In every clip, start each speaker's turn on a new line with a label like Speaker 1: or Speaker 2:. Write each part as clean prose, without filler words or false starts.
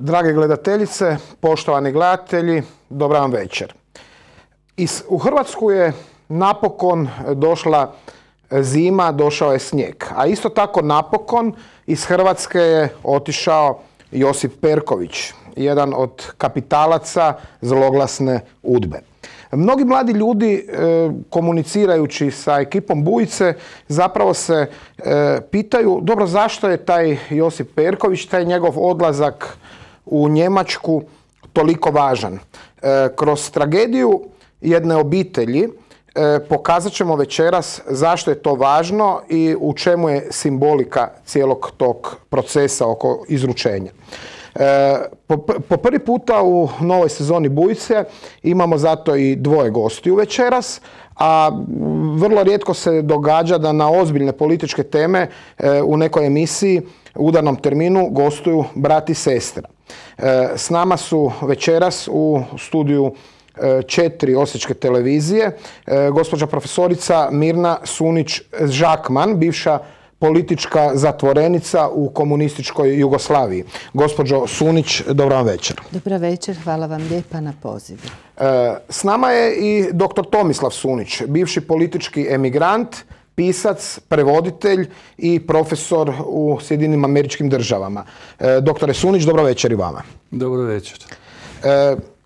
Speaker 1: Drage gledateljice, poštovani gledatelji, dobar vam večer. U Hrvatsku je napokon došla zima, došao je snijeg. A isto tako napokon iz Hrvatske je otišao Josip Perković, jedan od kapitalaca zloglasne UDBE. Mnogi mladi ljudi komunicirajući sa ekipom Bujice zapravo se pitaju dobro zašto je taj Josip Perković, taj njegov odlazak u Njemačku toliko važan. Kroz tragediju jedne obitelji pokazat ćemo večeras zašto je to važno i u čemu je simbolika cijelog tog procesa oko izručenja. Po prvi puta u novoj sezoni Bujice imamo zato i dvoje gostiju večeras, a vrlo rijetko se događa da na ozbiljne političke teme u nekoj emisiji u udarnom terminu gostuju brat i sestra. S nama su večeras u studiju 4 osječke televizije gospođa profesorica Mirna Sunić-Žakman, bivša politička zatvorenica u komunističkoj Jugoslaviji. Gospođo Sunić, dobro vam večer.
Speaker 2: Dobra večer, hvala vam lijepa na pozivu.
Speaker 1: S nama je i dr. Tomislav Sunić, bivši politički emigrant, pisac, prevoditelj i profesor u Sjedinjenim Američkim Državama. Doktore Sunić, dobro večer i vama.
Speaker 3: Dobro večer.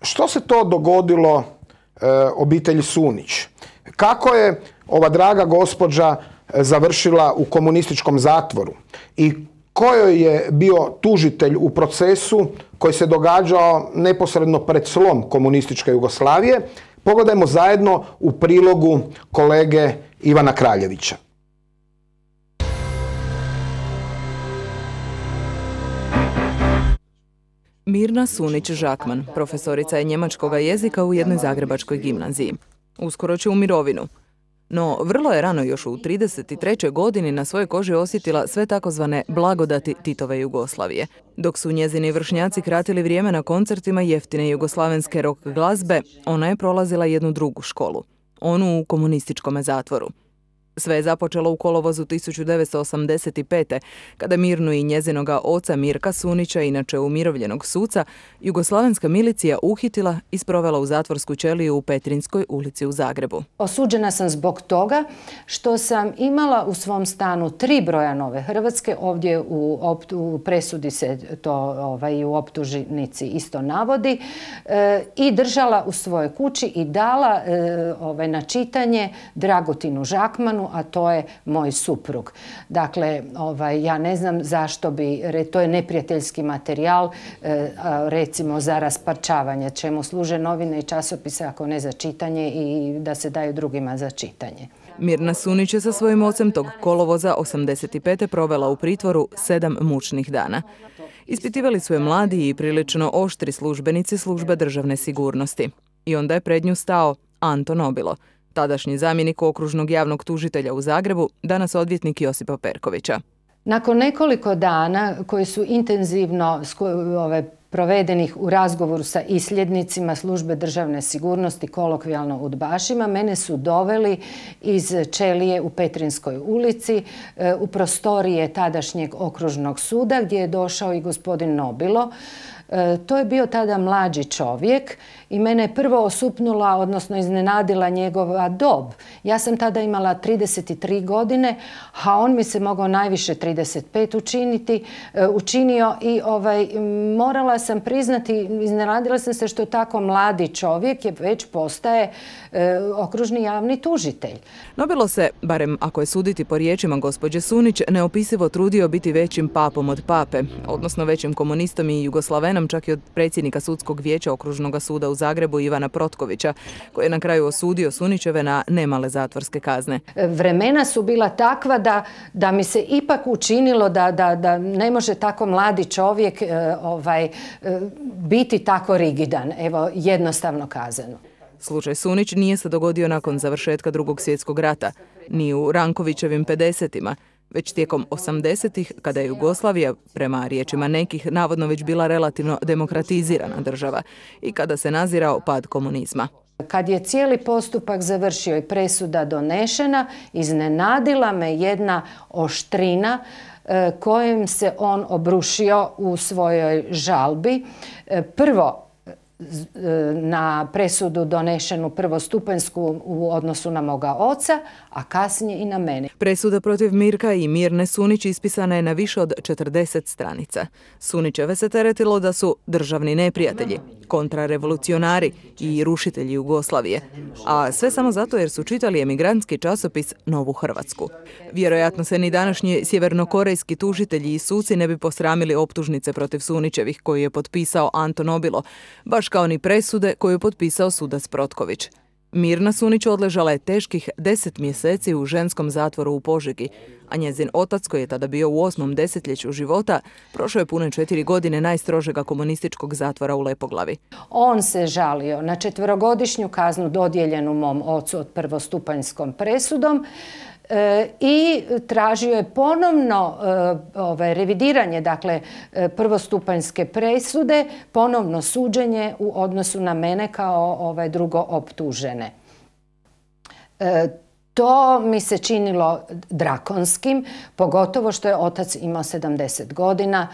Speaker 1: Što se to dogodilo obitelji Sunić? Kako je ova draga gospođa završila u komunističkom zatvoru i kojoj je bio tužitelj u procesu koji se događao neposredno pred slom komunističke Jugoslavije? Pogledajmo zajedno u prilogu kolege Ivana Kraljevića.
Speaker 4: Mirna Sunić-Žakman, profesorica je njemačkog jezika u jednoj zagrebačkoj gimnaziji. Uskoro će u mirovinu. No, vrlo je rano, još u 33. godini, na svojoj koži osjetila sve takozvane blagodati Titove Jugoslavije. Dok su njezini vršnjaci kratili vrijeme na koncertima jeftine jugoslavenske rock glazbe, ona je prolazila jednu drugu školu, onu u komunističkom zatvoru. Sve je započelo u kolovozu 1985. kada Mirnu i njezinoga oca Mirka Sunića, inače umirovljenog suca, jugoslavenska milicija uhitila i sprovela u zatvorsku ćeliju u Petrinskoj ulici u Zagrebu.
Speaker 2: Osuđena sam zbog toga što sam imala u svom stanu 3 broja Nove Hrvatske, ovdje u presudi se to i u optužnici isto navodi, i držala u svojoj kući i dala na čitanje Dragutinu Žakmanu, a to je moj suprug. Dakle, ja ne znam zašto bi, to je neprijateljski materijal, recimo za rasparčavanje, čemu služe novine i časopise ako ne za čitanje i da se daju drugima za čitanje.
Speaker 4: Mirna Sunić je sa svojim ocem tog kolovoza 85. provela u pritvoru 7 mučnih dana. Ispitivali su je mladi i prilično oštri službenici službe državne sigurnosti. I onda je pred nju stao Anto Nobilo, tadašnji zamjenik okružnog javnog tužitelja u Zagrebu, danas odvjetnik Josipa Perkovića.
Speaker 2: Nakon nekoliko dana koji su intenzivno provedenih u razgovoru sa isljednicima službe državne sigurnosti, kolokvijalno udbašima, mene su doveli iz ćelije u Petrinskoj ulici u prostorije tadašnjeg okružnog suda gdje je došao i gospodin Nobilo. To je bio tada mlađi čovjek i mene je prvo osupnula, odnosno iznenadila njegova dob. Ja sam tada imala 33 godine, a on mi se mogao najviše 35 učinio i morala sam priznati, iznenadila sam se što tako mladi čovjek je već postaje okružni javni tužitelj.
Speaker 4: Nobilo se, barem ako je suditi po riječima gospođe Sunić, neopisivo trudio biti većim papom od pape, odnosno većim komunistom i jugoslavenom, čak i od predsjednika sudskog vijeća okružnog suda u Zagrebu Ivana Protkovića, koji je na kraju osudio Sunićeve na nemale zatvorske kazne.
Speaker 2: Vremena su bila takva da mi se ipak učinilo da ne može tako mladi čovjek biti tako rigidan, evo jednostavno kazano.
Speaker 4: Slučaj Sunić nije se dogodio nakon završetka Drugog svjetskog rata, ni u Rankovićevim 50-ima, već tijekom 80-ih, kada je Jugoslavija, prema riječima nekih, navodno već bila relativno demokratizirana država i kada se nazirao pad komunizma.
Speaker 2: Kad je cijeli postupak završio i presuda donešena, iznenadila me jedna oštrina kojim se on obrušio u svojoj žalbi. Prvo, na presudu donešenu prvostupanjsku u odnosu na moga oca, a kasnije i na mene.
Speaker 4: Presuda protiv Mirka i Mirne Sunić ispisana je na više od 40 stranica. Sunićeve se teretilo da su državni neprijatelji, kontrarevolucionari i rušitelji Jugoslavije, a sve samo zato jer su čitali emigrantski časopis Novu Hrvatsku. Vjerojatno se ni današnji sjevernokorejski tužitelji i suci ne bi posramili optužnice protiv Sunićevih koju je potpisao Anto Nobilo, baš kao ni presude koju je potpisao sudac Protković. Mirna Sunić odležala je teških 10 mjeseci u ženskom zatvoru u Požegi, a njezin otac, koji je tada bio u 8. desetljeću života, prošao je pune 4 godine najstrožega komunističkog zatvora u Lepoglavi.
Speaker 2: On se žalio na 4-godišnju kaznu dodijeljenu mom ocu od prvostupanjskom presudom i tražio je ponovno revidiranje, dakle prvostupanjske presude, ponovno suđenje u odnosu na mene kao drugo optužene. To mi se činilo drakonskim, pogotovo što je otac imao 70 godina,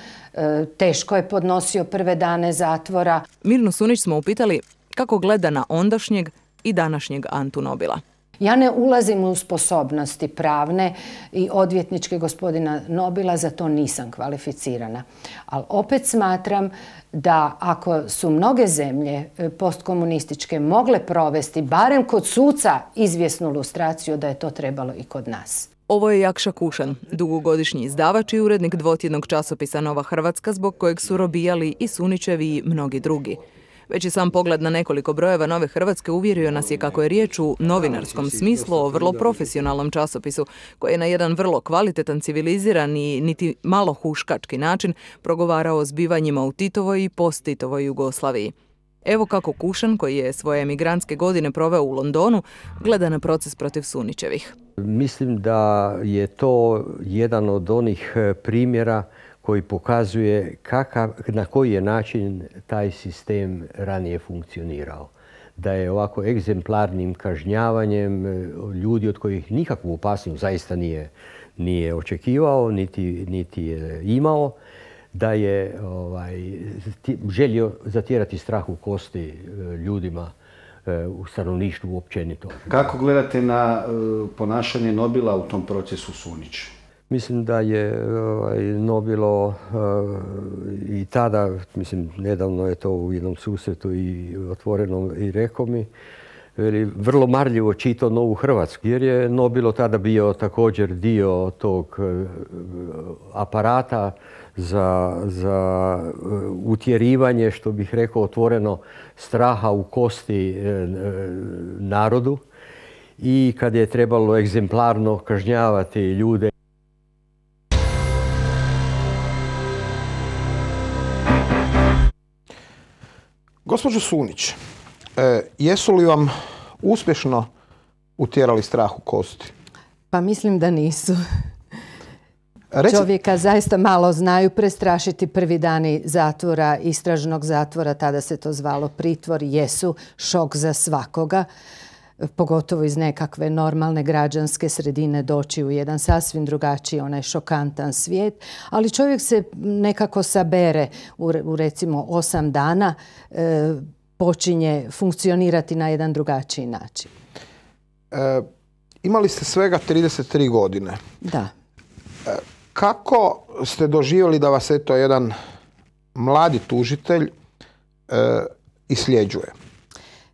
Speaker 2: teško je podnosio prve dane zatvora.
Speaker 4: Mirnu Sunić smo upitali kako gleda na ondašnjeg i današnjeg Antu Nobila.
Speaker 2: Ja ne ulazim u sposobnosti pravne i odvjetničke gospodina Nobila, za to nisam kvalificirana. Ali opet smatram da ako su mnoge zemlje postkomunističke mogle provesti, barem kod suca, izvjesnu lustraciju, da je to trebalo i kod nas.
Speaker 4: Ovo je Jakša Kušan, dugogodišnji izdavač i urednik dvotjednog časopisa Nova Hrvatska, zbog kojeg su robijali i Sunićevi i mnogi drugi. Već i sam pogled na nekoliko brojeva Nove Hrvatske uvjerio nas je kako je riječ u novinarskom smislu o vrlo profesionalnom časopisu, koji je na jedan vrlo kvalitetan, civiliziran i niti malo huškački način progovarao o zbivanjima u Titovoj i post-Titovoj Jugoslaviji. Evo kako Kušan, koji je svoje emigrantske godine proveo u Londonu, gleda na proces protiv Sunićevih.
Speaker 3: Mislim da je to jedan od onih primjera koji pokazuje na koji je način taj sistem ranije funkcionirao. Da je ovako egzemplarnim kažnjavanjem ljudi od kojih nikakvu opasnost zaista nije očekivao, niti je imao, da je želio zatjerati strah u kosti ljudima u stanovništvu općenito.
Speaker 5: Kako gledate na ponašanje Nobila u tom procesu Sunić?
Speaker 3: Mislim da je Nobilo i tada, nedavno je to u jednom susretu i otvoreno i rekao mi, vrlo marljivo čitao Novu Hrvatsku, jer je Nobilo tada bio također dio tog aparata za utjerivanje, što bih rekao otvoreno, straha u kosti narodu, i kad je trebalo egzemplarno kažnjavati ljude.
Speaker 1: Gospođo Sunić, jesu li vam uspješno utjerali strah u kosti?
Speaker 2: Pa mislim da nisu. Čovjeka zaista malo znaju prestrašiti prvi dani zatvora, istražnog zatvora, tada se to zvalo pritvor, jesu šok za svakoga, pogotovo iz nekakve normalne građanske sredine doći u jedan sasvim drugačiji, onaj šokantan svijet, ali čovjek se nekako sabere u recimo 8 dana, počinje funkcionirati na jedan drugačiji način.
Speaker 1: Imali ste svega 33 godine.
Speaker 2: Da.
Speaker 1: Kako ste doživjeli da vas jedan mladi tužitelj isljeđuje?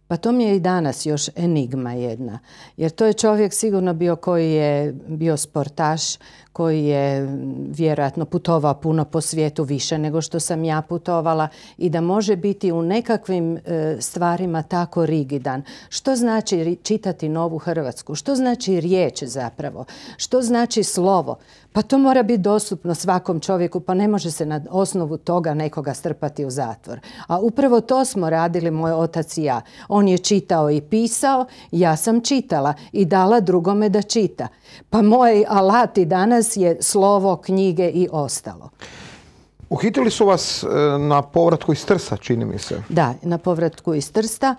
Speaker 2: Pa to mi je i danas još enigma jedna. Jer to je čovjek sigurno bio koji je bio sportaš, koji je vjerojatno putovao puno po svijetu, više nego što sam ja putovala, i da može biti u nekakvim stvarima tako rigidan. Što znači čitati Novu Hrvatsku? Što znači riječ zapravo? Što znači slovo? Pa to mora biti dostupno svakom čovjeku, pa ne može se na osnovu toga nekoga strpati u zatvor. A upravo to smo radili moj otac i ja. On je čitao i pisao, ja sam čitala i dala drugome da čita. Pa moj alat i danas je slovo, knjige i ostalo.
Speaker 1: Uhitili su vas na povratku iz Trsta, čini mi se.
Speaker 2: Da, na povratku iz Trsta.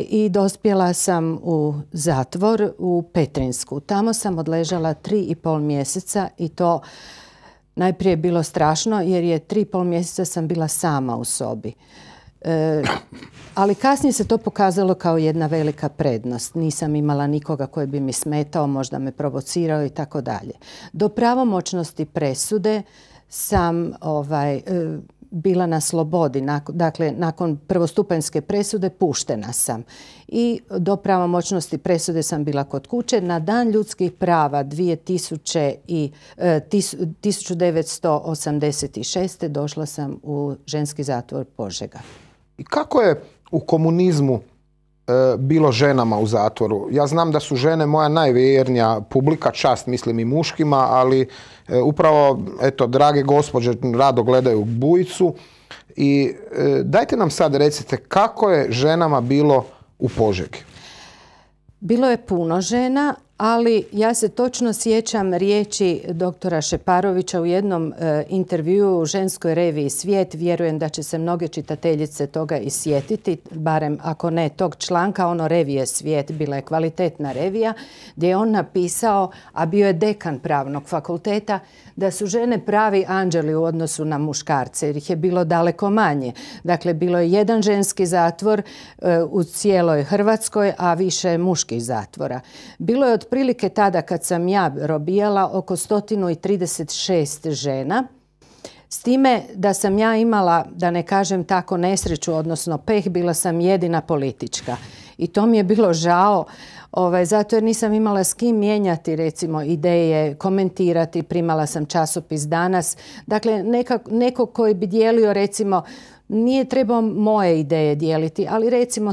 Speaker 2: I dospjela sam u zatvor u Petrinjsku. Tamo sam odležala 3,5 mjeseca i to najprije je bilo strašno jer je 3,5 mjeseca sam bila sama u sobi. Ali kasnije se to pokazalo kao jedna velika prednost. Nisam imala nikoga koji bi mi smetao, možda me provocirao i tako dalje. Do pravomoćnosti presude sam bila na slobodi. Dakle, nakon prvostupanjske presude puštena sam. I do pravomoćnosti presude sam bila kod kuće. Na Dan ljudskih prava 1986. došla sam u ženski zatvor Požega.
Speaker 1: I kako je u komunizmu bilo ženama u zatvoru? Ja znam da su žene moja najvjernija publika, čast mislim i muškima, ali upravo, eto, drage gospođe rado gledaju Bujicu. I dajte nam sad recite kako je ženama bilo u Požegi?
Speaker 2: Bilo je puno žena, ali ja se točno sjećam riječi doktora Šeparovića u jednom intervjuu u ženskoj reviji Svijet. Vjerujem da će se mnoge čitateljice toga i sjetiti, barem ako ne tog članka, revije Svijet, bila je kvalitetna revija, gdje je on napisao, a bio je dekan pravnog fakulteta, da su žene pravi anđeli u odnosu na muškarce, jer ih je bilo daleko manje. Dakle, bilo je jedan ženski zatvor u cijeloj Hrvatskoj, a više muških zatvora. Bilo je otprilike tada kad sam ja robijala oko 136 žena, s time da sam ja imala, da ne kažem tako, nesreću, odnosno peh, bila sam jedina politička. I to mi je bilo žao, zato jer nisam imala s kim mijenjati recimo ideje, komentirati, primala sam časopis Danas. Dakle, neko koji bi dijelio recimo, nije trebao moje ideje dijeliti, ali recimo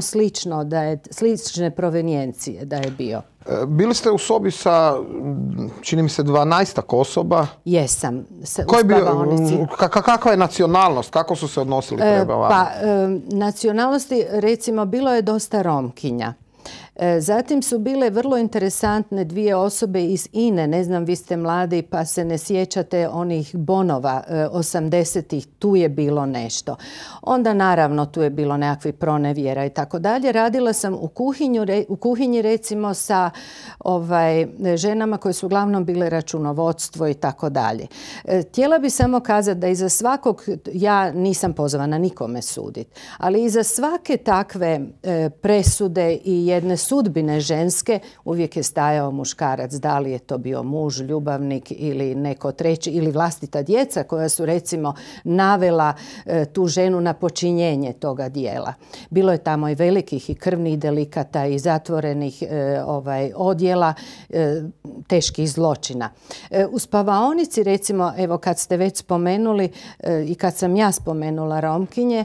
Speaker 2: slične provenijencije da je bio.
Speaker 1: Bili ste u sobi sa, čini mi se, 12 osoba.
Speaker 2: Jesam, u spavaonici.
Speaker 1: Kakva je nacionalnost? Kako su se odnosili prema vama?
Speaker 2: Nacionalnosti, recimo, bilo je dosta Romkinja. Zatim su bile vrlo interesantne dvije osobe iz INE. Ne znam, vi ste mladi pa se ne sjećate onih bonova 80-ih. Tu je bilo nešto. Onda naravno tu je bilo nekakvih pronevjera i tako dalje. Radila sam u kuhinji recimo sa ženama koje su uglavnom bile računovodstvo i tako dalje. Htjela bi samo kazati da iza svakog, ja nisam pozvana nikome suditi, ali iza svake takve presude i jedne sudbine ženske uvijek je stajao muškarac, da li je to bio muž, ljubavnik ili neko treći ili vlastita djeca koja su recimo navela tu ženu na počinjenje toga dijela. Bilo je tamo i velikih i krvnih delikata i zatvorenih odjela, teških zločina. U spavaonici recimo, evo kad ste već spomenuli i kad sam ja spomenula Romkinje,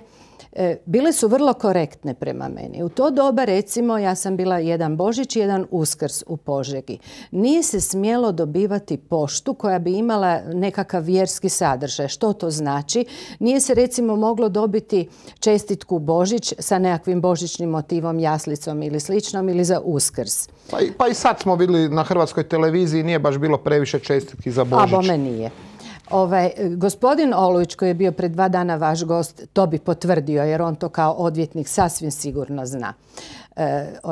Speaker 2: bile su vrlo korektne prema meni. U to doba, recimo, ja sam bila jedan Božić i jedan Uskrs u Požegi. Nije se smjelo dobivati poštu koja bi imala nekakav vjerski sadržaj. Što to znači? Nije se, recimo, moglo dobiti čestitku Božić sa nekakvim božićnim motivom, jaslicom ili sličnom, ili za Uskrs.
Speaker 1: Pa i sad smo bili na hrvatskoj televiziji, nije baš bilo previše čestitki za Božić.
Speaker 2: A bome nije. Gospodin Olujić koji je bio pred 2 dana vaš gost, to bi potvrdio jer on to kao odvjetnik sasvim sigurno zna.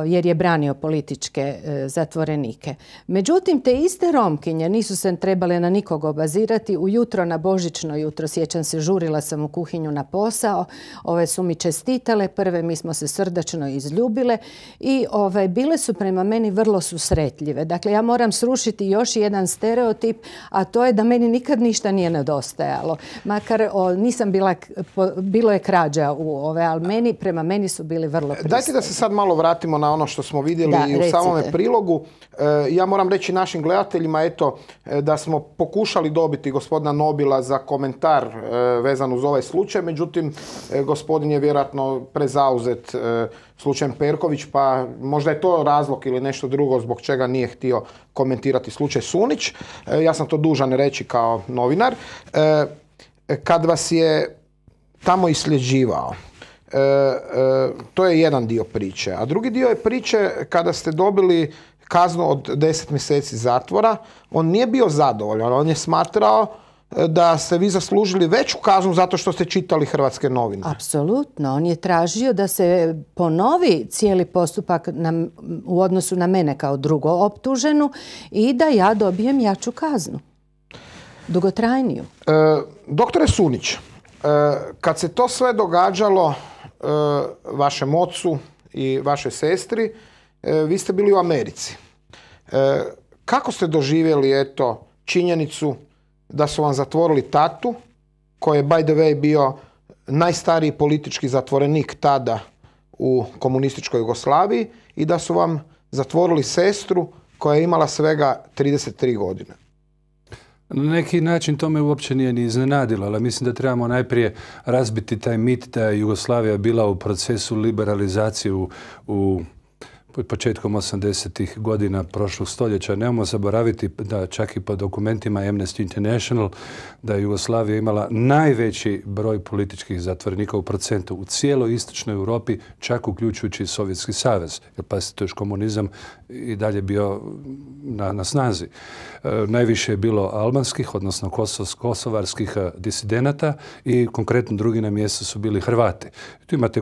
Speaker 2: Jer je branio političke zatvorenike. Međutim, te iste Romkinje nisu se trebale na nikog obazirati. Ujutro, na božićno jutro, sjećam se, žurila sam u kuhinju na posao. Ove su mi čestitale, prve mi smo se srdačno izljubile i bile su prema meni vrlo susretljive. Dakle, ja moram srušiti još jedan stereotip, a to je da meni nikad ništa nije nedostajalo. Makar nisam bilo je krađa ali prema meni su bili vrlo pristojni.
Speaker 1: Dajte da se sad malo vratimo na ono što smo vidjeli i u samome prilogu. Ja moram reći našim gledateljima da smo pokušali dobiti gospodina Nobila za komentar vezan uz ovaj slučaj, međutim gospodin je vjerojatno prezauzet slučajem Perković, pa možda je to razlog ili nešto drugo zbog čega nije htio komentirati slučaj Sunić. Ja sam to dužan reći kao novinar. Kad vas je tamo isljeđivao, to je jedan dio priče. A drugi dio je priče kada ste dobili kaznu od 10 mjeseci zatvora. On nije bio zadovoljan. On je smatrao da ste vi zaslužili veću kaznu zato što ste čitali hrvatske novine?
Speaker 2: Apsolutno. On je tražio da se ponovi cijeli postupak u odnosu na mene kao drugo optuženu i da ja dobijem jaču kaznu. Dugotrajniju.
Speaker 1: Doktore Sunić, kad se to sve događalo vašem ocu i vašoj sestri, vi ste bili u Americi. Kako ste doživjeli činjenicu da su vam zatvorili tatu, koji je by the way bio najstariji politički zatvorenik tada u komunističkoj Jugoslaviji, i da su vam zatvorili sestru koja je imala svega 33 godine?
Speaker 6: Na neki način to me uopće nije ni iznenadilo, ali mislim da trebamo najprije razbiti taj mit da je Jugoslavija bila u procesu liberalizacije početkom 80-ih godina prošlog stoljeća. Nemojmo zaboraviti da čak i po dokumentima Amnesty International da je Jugoslavija imala najveći broj političkih zatvorenika u procentu u cijeloj istočnoj Europi, čak uključujući i Sovjetski savez. Jer pazite, to je komunizam i dalje bio na snazi. Najviše je bilo albanskih, odnosno kosovarskih disidenata i konkretno drugi na mjestu su bili Hrvati. Tu imate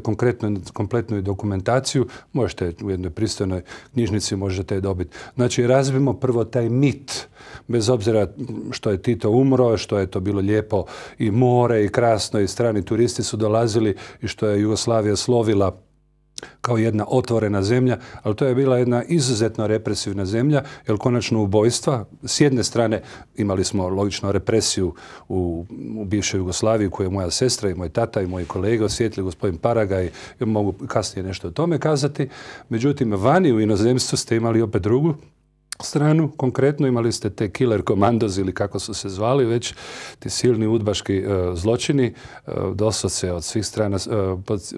Speaker 6: kompletnu dokumentaciju, možete u jednoj pristojnoj knjižnici možete je dobiti. Znači, razbimo prvo taj mit, bez obzira što je Tito umro, što je to bilo lijepo i more i krasno i strani turisti su dolazili i što je Jugoslavija slovila kao jedna otvorena zemlja, ali to je bila jedna izuzetno represivna zemlja, jer konačno ubojstva, s jedne strane imali smo logično represiju u bivšoj Jugoslaviji koju je moja sestra i moj tata i moji kolege osjetili, gospodin Paraga, i mogu kasnije nešto o tome kazati. Međutim, vani u inozemstvu ste imali opet drugu stranu, konkretno imali ste te killer komandos ili kako su se zvali već, ti silni udbaški zločini, doslovce od svih strana,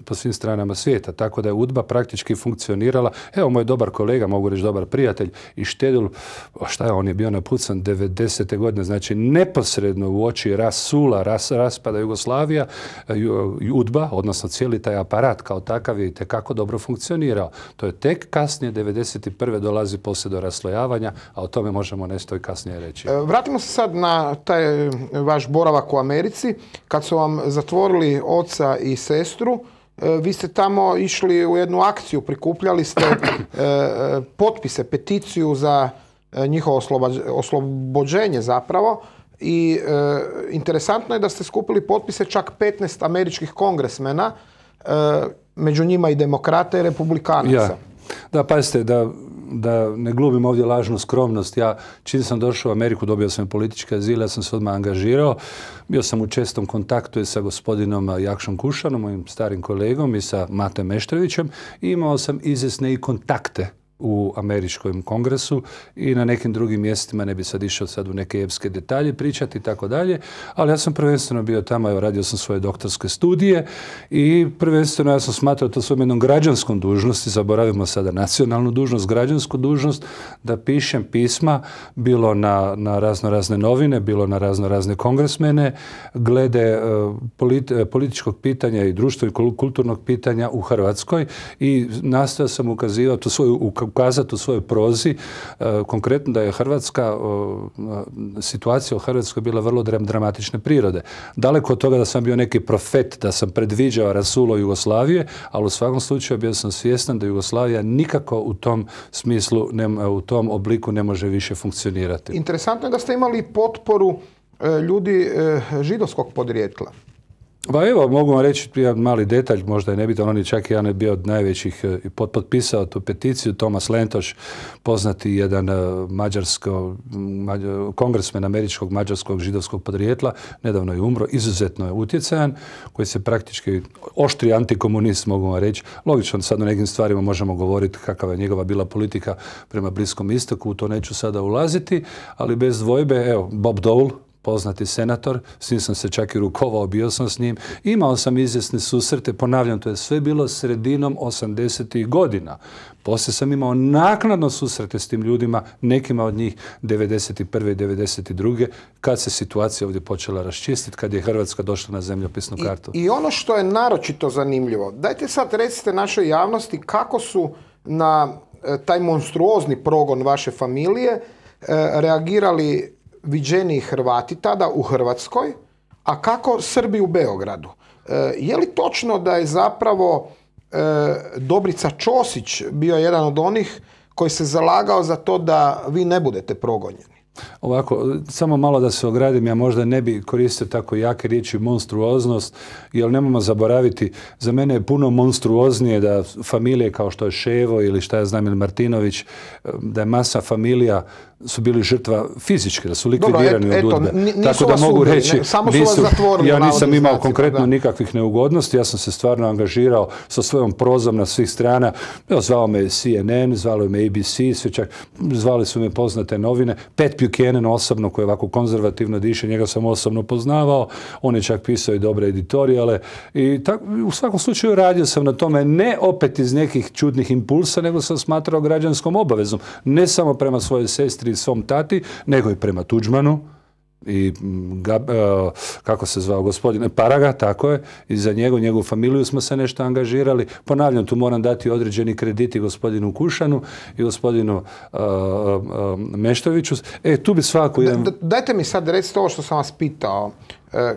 Speaker 6: po svim stranama svijeta, tako da je UDBA praktički funkcionirala. Evo, moj dobar kolega, mogu reći dobar prijatelj i Štedul, on je bio napucan 90. godine, znači neposredno u oči raspada Jugoslavija, UDBA, odnosno cijeli taj aparat kao takav je itekako dobro funkcionirao. To je tek kasnije 91. dolazi poslije do raslojavanja, a o tome možemo nešto i kasnije reći.
Speaker 1: Vratimo se sad na taj vaš boravak u Americi. Kad su vam zatvorili oca i sestru, vi ste tamo išli u jednu akciju, prikupljali ste potpise, peticiju za njihovo oslobođenje zapravo, i interesantno je da ste skupili potpise čak 15 američkih kongresmena, među njima i demokrata i republikanaca.
Speaker 6: Ja. Da, pazite, da ne glumim ovdje lažnu skromnost. Ja, čim sam došao u Ameriku, dobio sam politički azil, ja sam se odmah angažirao. Bio sam u čestom kontaktu i sa gospodinom Jakšom Kušanom, mojim starim kolegom, i sa Matem Meštrovićem. I imao sam izvjesne i kontakte u američkom kongresu i na nekim drugim mjestima, ne bi sad išao sad u neke epske detalje pričati i tako dalje, ali ja sam prvenstveno bio tamo, evo, radio sam svoje doktorske studije i prvenstveno ja sam smatrao to svojom jednom građanskom dužnosti, zaboravimo sada nacionalnu dužnost, građansku dužnost, da pišem pisma, bilo na razne novine, bilo na razne kongresmene, glede političkog pitanja i društvo i kulturnog pitanja u Hrvatskoj, i nastojao sam ukazati u svojoj prozi konkretno da je Hrvatska, situacija u Hrvatskoj bila vrlo dramatične prirode. Daleko od toga da sam bio neki profet, da sam predviđao rasulo Jugoslavije, ali u svakom slučaju bio sam svjestan da Jugoslavija nikako u tom smislu, u tom obliku ne može više funkcionirati.
Speaker 1: Interesantno je da ste imali potporu ljudi židovskog podrijetla.
Speaker 6: Pa evo, mogu vam reći jedan mali detalj, možda je nebitan, on je čak jedan bio od najvećih i potpisao tu peticiju, Tomas Lentoš, poznati jedan kongresmen američkog mađarskog židovskog podrijetla, nedavno je umro, izuzetno je utjecajan, koji se praktički oštri antikomunist, mogu vam reći. Logično, sad o nekim stvarima možemo govoriti kakva je njegova bila politika prema Bliskom istoku, u to neću sada ulaziti, ali bez dvojbe, evo, Bob Dole, poznati senator, s njim sam se čak i rukovao, bio sam s njim. Imao sam izvjesne susrete, ponavljam, to je sve bilo sredinom 80-ih godina. Poslije sam imao naknadno susrete s tim ljudima, nekima od njih 91. i 92. kad se situacija ovdje počela raščistiti, kad je Hrvatska došla na zemljopisnu kartu.
Speaker 1: I ono što je naročito zanimljivo, dajte sad recite našoj javnosti kako su na taj monstruozni progon vaše familije reagirali viđeniji Hrvati tada u Hrvatskoj, a kako Srbi u Beogradu? Je li točno da je zapravo Dobrica Ćosić bio jedan od onih koji se zalagao za to da vi ne budete progonjeni?
Speaker 6: Ovako, samo malo da se ogradim, ja možda ne bi koristio tako jake riječi monstruoznost, jer nemojmo zaboraviti, za mene je puno monstruoznije da familije kao što je Ševo ili šta ja znam, ili Martinović, da je masa familija su bili žrtva fizički, da su likvidirani od UDBE. Tako da mogu reći, ja nisam imao konkretno nikakvih neugodnosti, ja sam se stvarno angažirao sa svojom prozom na svih strana. Zvao me CNN, zvalo me ABC, zvali su me poznate novine. Pat Buchanan osobno, koji je ovako konzervativno diše, njega sam osobno poznavao, on je čak pisao i dobre editorijale i u svakom slučaju radio sam na tome, ne opet iz nekih čudnih impulsa, nego sam smatrao građanskom obavezom, ne samo prema svojoj sestri i svom tati, nego i prema Tuđmanu i kako se zvao gospodin Paraga, tako je, i za njegovu familiju smo se nešto angažirali. Ponavljam, tu moram dati određeni krediti gospodinu Kušanu i gospodinu Meštoviću. Tu bi svako jedan...
Speaker 1: Dajte mi sad recite ovo što sam vas pitao.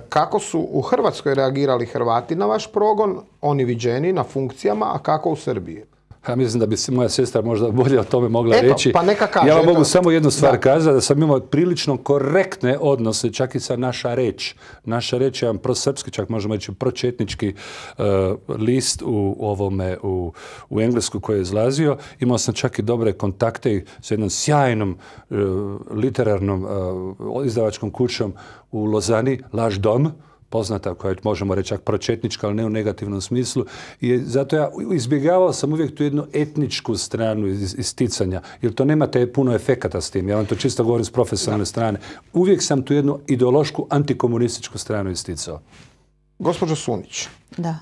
Speaker 1: Kako su u Hrvatskoj reagirali Hrvati na vaš progon, oni viđeni na funkcijama, a kako u Srbiji?
Speaker 6: Ja mislim da bi se moja sestra možda bolje o tome mogla reći.
Speaker 1: Pa neka kaže,
Speaker 6: ja vam mogu samo jednu stvar kazati, da sam imao prilično korektne odnose, čak i sa Naša reč. Naša reč je jedan prosrpski, čak možemo reći pročetnički list u Englesku koji je izlazio. Imao sam čak i dobre kontakte s jednom sjajnom literarnom izdavačkom kućom u Lozani, Laš dom, poznata, koja je, možemo reći, čak pročetnička, ali ne u negativnom smislu. I zato ja izbjegavao sam uvijek tu jednu etničku stranu isticanja, jer to nemate puno efekata s tim. Ja vam to čisto govorim s profesionalne strane. Uvijek sam tu jednu ideološku antikomunističku stranu isticao.
Speaker 1: Gospođo Sunić,
Speaker 2: da.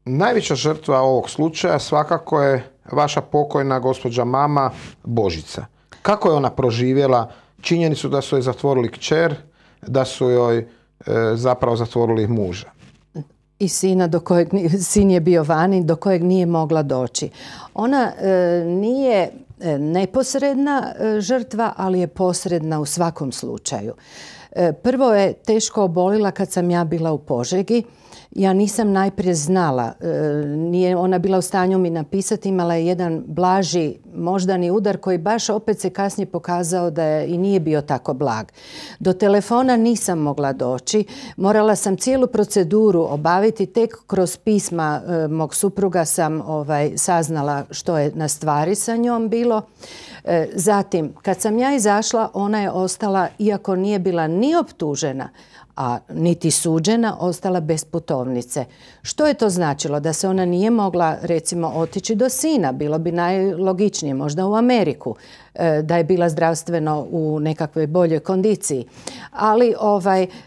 Speaker 1: Najveća žrtva ovog slučaja svakako je vaša pokojna gospođa mama Božica. Kako je ona proživjela činjenicu da su joj zatvorili kćer, da su joj zapravo zatvorili muža?
Speaker 2: I sina, sin je bio vani, do kojeg nije mogla doći. Ona nije neposredna žrtva, ali je posredna u svakom slučaju. Prvo je teško obolila kad sam ja bila u Požegi. Ja nisam najprije znala, nije ona bila u stanju mi napisati, imala je jedan blaži moždani udar koji baš opet se kasnije pokazao da je i nije bio tako blag. Do telefona nisam mogla doći, morala sam cijelu proceduru obaviti, tek kroz pisma mog supruga sam saznala što je na stvari sa njom bilo. Zatim, kad sam ja izašla, ona je ostala, iako nije bila ni optužena, a niti suđena, ostala bez putovnice. Što je to značilo? Da se ona nije mogla, recimo, otići do sina. Bilo bi najlogičnije, možda u Ameriku, da je bila zdravstveno u nekakvoj boljoj kondiciji. Ali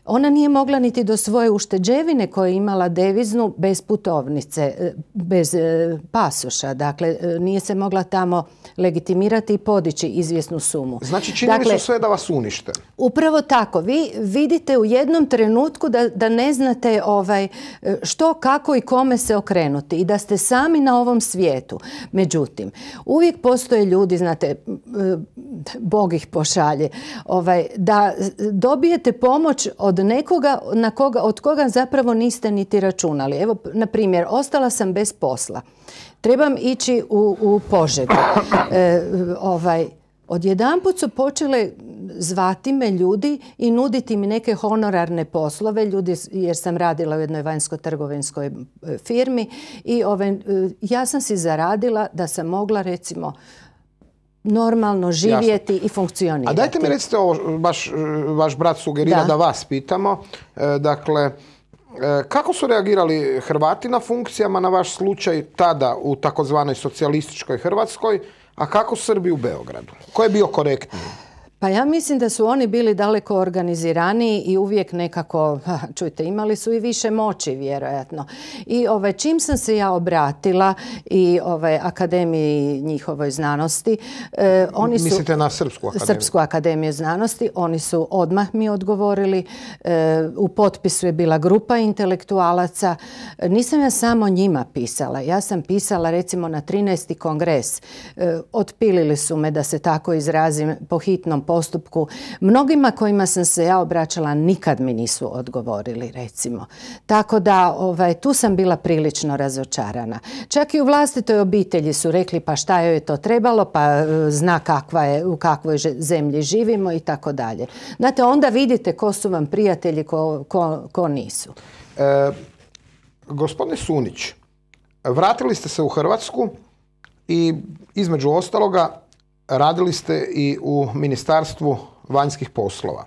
Speaker 2: ona nije mogla niti do svoje ušteđevine koje je imala deviznu bez putovnice, bez pasoša. Dakle, nije se mogla tamo legitimirati i podići izvjesnu sumu.
Speaker 1: Znači, činili su sve da vas unište.
Speaker 2: Upravo tako. Vi vidite u jednom trenutku da ne znate što, kako i kome se okrenuti i da ste sami na ovom svijetu. Međutim, uvijek postoje ljudi, znate, Bog ih pošalje, da dobijete pomoć od nekoga od koga zapravo niste niti računali. Evo, na primjer, ostala sam bez posla. Trebam ići u Požegu. Odjedanput su počele zvati me ljudi i nuditi mi neke honorarne poslove, jer sam radila u jednoj vanjsko-trgovinskoj firmi i ja sam si zaradila da sam mogla, recimo, normalno živjeti i funkcionirati.
Speaker 1: A dajte mi recite ovo, vaš brat sugerira da vas pitamo. Dakle, kako su reagirali Hrvati na funkcijama na vaš slučaj tada u takozvanoj socijalističkoj Hrvatskoj, a kako Srbi u Beogradu? Ko je bio korektniji?
Speaker 2: Pa ja mislim da su oni bili daleko organiziraniji i uvijek nekako, čujte, imali su i više moći vjerojatno. I čim sam se ja obratila i Akademiji njihovoj znanosti, oni su...
Speaker 1: Mislite na Srpsku akademiju?
Speaker 2: Srpsku akademiju znanosti. Oni su odmah mi odgovorili. U potpisu je bila grupa intelektualaca. Nisam ja samo njima pisala. Ja sam pisala recimo na 13. kongres. Otpilili su me, da se tako izrazim, po hitnom postupku postupku. Mnogima kojima sam se ja obraćala nikad mi nisu odgovorili, recimo. Tako da tu sam bila prilično razočarana. Čak i u vlastitoj obitelji su rekli pa šta joj je to trebalo, pa zna u kakvoj zemlji živimo i tako dalje. Znate, onda vidite ko su vam prijatelji, ko nisu.
Speaker 1: Gospodine Sunić, vratili ste se u Hrvatsku i između ostaloga radili ste i u Ministarstvu vanjskih poslova.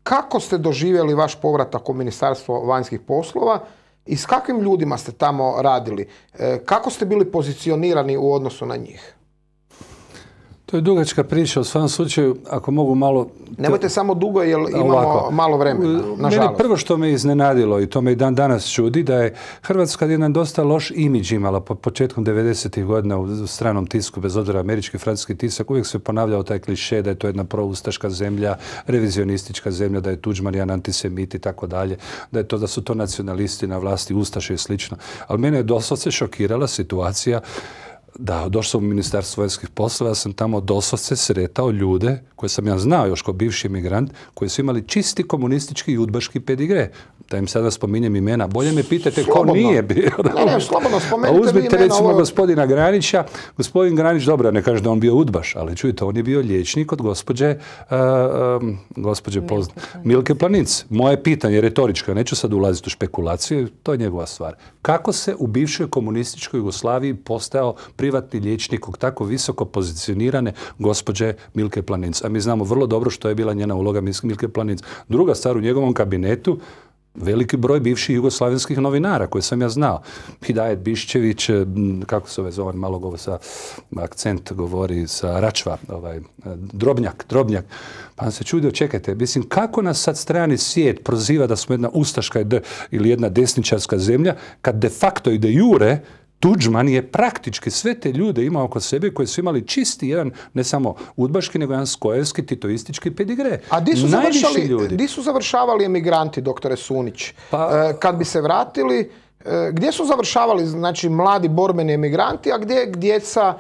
Speaker 1: Kako ste doživjeli vaš povratak u Ministarstvo vanjskih poslova i s kakvim ljudima ste tamo radili? Kako ste bili pozicionirani u odnosu na njih?
Speaker 6: To je dugačka priča, u svakom slučaju, ako mogu malo...
Speaker 1: Nemojte samo dugo, jer imamo malo vremena, nažalost.
Speaker 6: Mene prvo što me iznenadilo, i to me i dan danas čudi, da je Hrvatska jedan dosta loš imidž imala početkom 90. godina u stranom tisku, bez obzira američki, francuski tisak, uvijek se ponavljao taj kliše da je to jedna proustaška zemlja, revizionistička zemlja, da je Tuđman jedan antisemit i tako dalje, da su to nacionalisti na vlasti, ustaše i slično. Ali mene je doslovce šokirala situacija da, došao sam u Ministarstvo vanjskih poslova, sam tamo doslovce sretao ljude koje sam ja znao još kao bivši emigrant, koji su imali čisti komunistički i udbaški pedigre. Da im sada spominjem imena. Bolje me pitajte ko nije bio.
Speaker 1: Ne, slobodno spomenite.
Speaker 6: Uzmite recimo gospodina Granića. Gospodin Granić, dobro, ne kaže da on bio udbaš, ali čujte, on je bio liječnik od gospođe Milke Planinc. Moje pitanje, retoričko, neću sad ulaziti u špekulaciju, to je njegova stvar. Kako se u bivšoj komunističkoj Jugoslaviji postao privatni liječnik od tako visoko pozicionirane gospođe Milke Planinc? A mi znamo vrlo dobro što je bila njena uloga Milke Planinc. Druga stvar, u njegovom kabinetu veliki broj bivših jugoslavenskih novinara koje sam ja znao. Hidajet Biščević, kako se zove, malo govori sa akcent, govori sa Račva, Drobnjak. Pa sam se čudio, čekajte, mislim, kako nas sad strani svijet proziva da smo jedna ustaška ili jedna desničarska zemlja, kad de facto i de jure Tuđman je praktički sve te ljude imao oko sebe koji su imali čisti jedan, ne samo udbaški, nego jedan skojevski, titoistički pedigre.
Speaker 1: A di su završavali emigranti, doktore Sunić? Kad bi se vratili, gdje su završavali, znači, mladi borbeni emigranti, a gdje djeca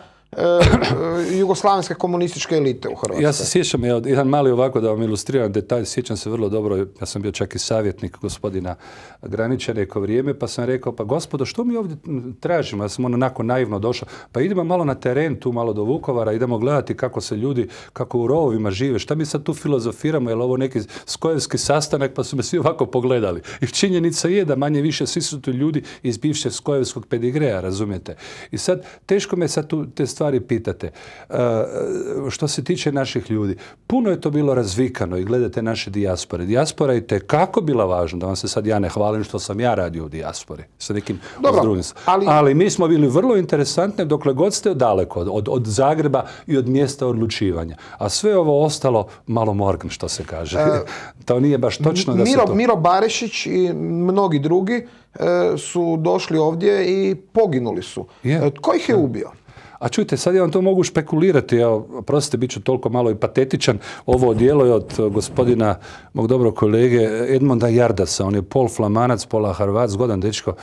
Speaker 1: jugoslavenske komunističke elite u Hrvatskoj?
Speaker 6: Ja se sjećam, jedan mali ovako da vam ilustriram detalj, sjećam se vrlo dobro, ja sam bio čak i savjetnik gospodina Granića neko vrijeme, pa sam rekao, pa gospodo, što mi ovdje tražimo? Ja sam onako naivno došao, pa idemo malo na teren, tu malo do Vukovara, idemo gledati kako se ljudi, kako u rovovima žive, šta mi sad tu filozofiramo, je li ovo neki skojevski sastanak, pa su me svi ovako pogledali. I činjenica je da manje više svi su tu ljudi iz bivšeg skojevskog pedigreja, razumijete? I sad, teško me sad tu te stvari pitate. Što se tiče naših ljudi, puno je to bilo razvikano i gledate naše dijaspore. Dijaspora je tekako bila važna, da vam se sad ja ne hvalim što sam ja radio u dijaspori. Sa nekim drugim. Ali mi smo bili vrlo interesantni dokle god ste daleko od Zagreba i od mjesta odlučivanja. A sve ovo ostalo malo morgan, što se kaže. To nije baš točno da se to...
Speaker 1: Miro Barešić i mnogi drugi su došli ovdje i poginuli su. Tko ih je ubio?
Speaker 6: A čujte, sad ja vam to mogu špekulirati, prostite, bit ću toliko malo i patetičan, ovo djelo je od gospodina, mog dobrog kolege Edmonda Jardasa, on je pol Flamanac, pola Hrvat, zgodan dečko,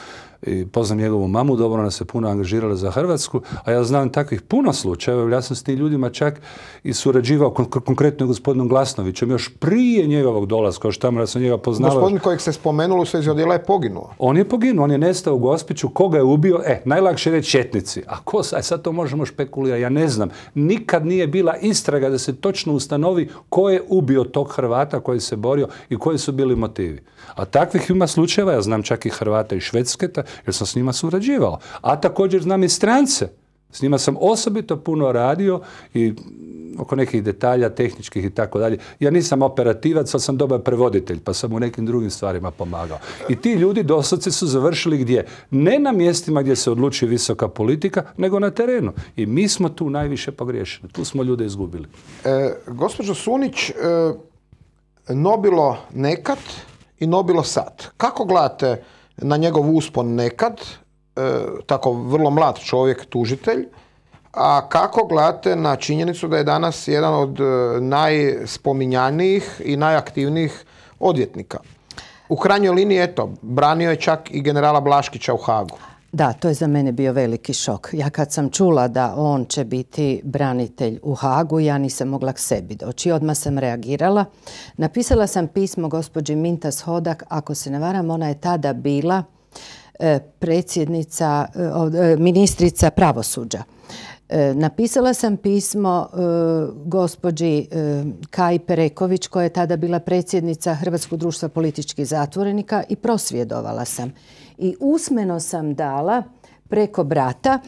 Speaker 6: i poznam njegovu mamu, dobro, ona se puno angažirala za Hrvatsku, a ja znam takvih puno slučajeva, ja sam s tim ljudima čak i surađivao konkretno gospodinom Glasnovićem, još prije njegovog dolaska, još tamo ja sam njega poznavao.
Speaker 1: Gospodin kojeg ste spomenuli u svezi odjela je poginuo.
Speaker 6: On je poginuo, on je nestao u Gospiću, koga je ubio? Najlakše reći četnici. A ko sad to možemo špekulirati? Ja ne znam. Nikad nije bila istraga da se točno ustanovi ko je ubio tog Hrvata koji se borio i koji su bili motivi. A takvih ima slučajeva, ja znam čak i Hrvata iz Švedske, jer sam s njima surađivao. A također znam i strance. S njima sam osobito puno radio i oko nekih detalja, tehničkih i tako dalje. Ja nisam operativac, ali sam dobar prevoditelj, pa sam u nekim drugim stvarima pomagao. I ti ljudi doslovce su završili gdje? Ne na mjestima gdje se odlučuje visoka politika, nego na terenu. I mi smo tu najviše pogriješili. Tu smo ljude izgubili.
Speaker 1: Gospođo Sunić, Nobilo nekad i Nobilo sad. Kako gledate na njegov uspon nekad, tako vrlo mlad čovjek, tužitelj, a kako gledate na činjenicu da je danas jedan od najspominjanijih i najaktivnijih odvjetnika? U krajnjoj liniji, eto, branio je čak i generala Blaškića u Hagu.
Speaker 2: Da, to je za mene bio veliki šok. Ja kad sam čula da on će biti branitelj u Hagu, ja nisam mogla k sebi doći. Odmah sam reagirala. Napisala sam gospođi Mintas Hodak, ako se ne varam, ona je tada bila ministrica pravosuđa. Napisala sam pismo gospođi Kaji Pereković, koja je tada bila predsjednica Hrvatskog društva političkih zatvorenika, i prosvjedovala sam. I usmeno sam dala preko brata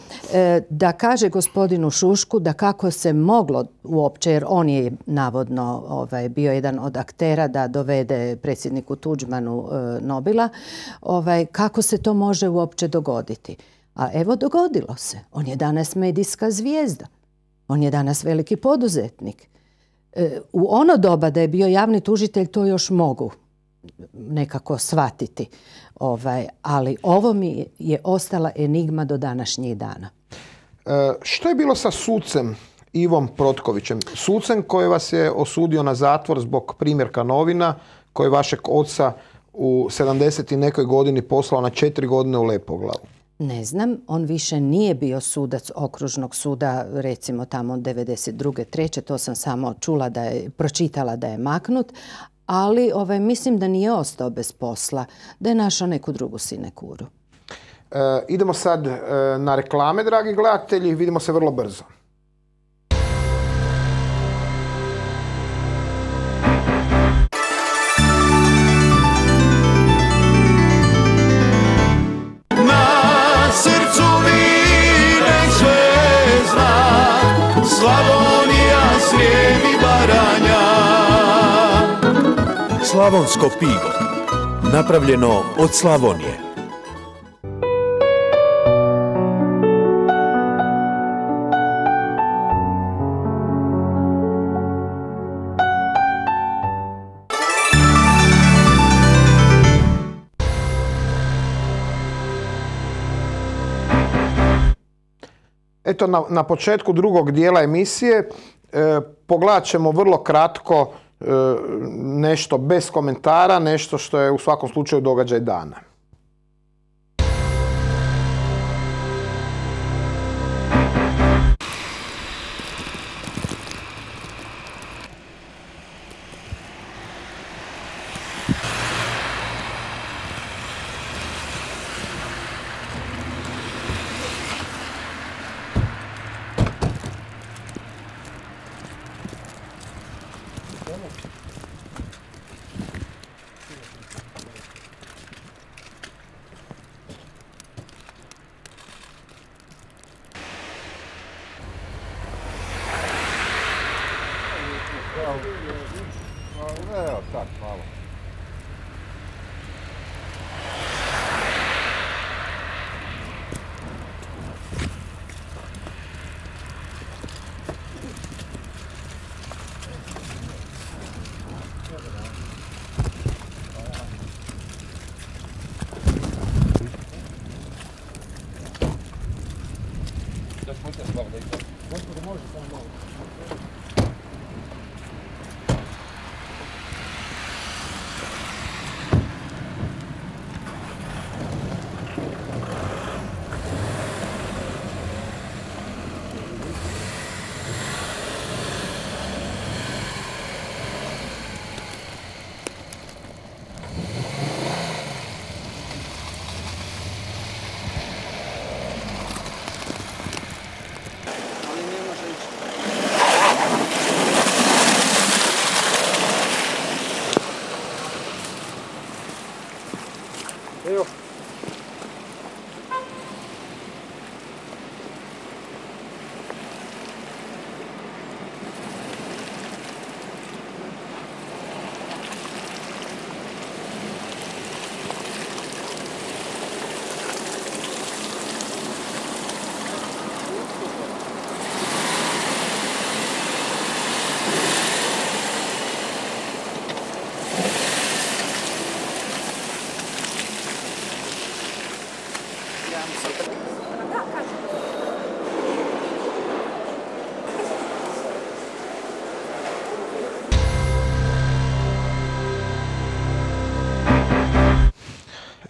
Speaker 2: da kaže gospodinu Šušku da kako se moglo uopće, jer on je navodno bio jedan od aktera da dovede predsjedniku Tuđmanu Nobila, kako se to može uopće dogoditi. A evo, dogodilo se. On je danas medijska zvijezda. On je danas veliki poduzetnik. U ono doba da je bio javni tužitelj, to još mogu nekako shvatiti. Ali ovo mi je ostala enigma do današnjih dana.
Speaker 1: Što je bilo sa sucem Ivom Protkovićem? Sucem koji vas je osudio na zatvor zbog primjerka novina, koji je vašeg oca u 70 i nekoj godini poslao na 4 godine u Lepoglavu.
Speaker 2: Ne znam, on više nije bio sudac okružnog suda, recimo tamo 92. 3. To sam samo čula pročitala da je maknut, ali mislim da nije ostao bez posla, da je našao neku drugu sinekuru.
Speaker 1: Idemo sad na reklame, dragi gledatelji, vidimo se vrlo brzo.
Speaker 7: Slavonija, Srijem i Baranja. Slavonsko pivo, napravljeno od Slavonije.
Speaker 1: Eto, na početku drugog dijela emisije pogledat ćemo vrlo kratko nešto bez komentara, nešto što je u svakom slučaju događaj dana.
Speaker 8: Evo, tak, malo.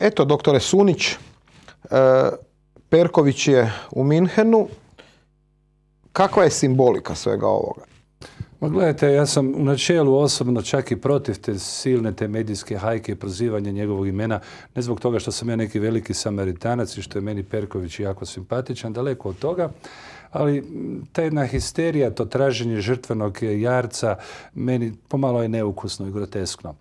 Speaker 1: Eto, doktore Sunić, Perković je u Minhenu. Kakva je simbolika svega ovoga?
Speaker 6: Ma gledajte, ja sam u načelu osobno čak i protiv te silne te medijske hajke i prozivanja njegovog imena, ne zbog toga što sam ja neki veliki Samaritanac i što je meni Perković jako simpatičan, daleko od toga, ali ta jedna histerija, to traženje žrtvenog jarca, meni pomalo je neukusno i groteskno.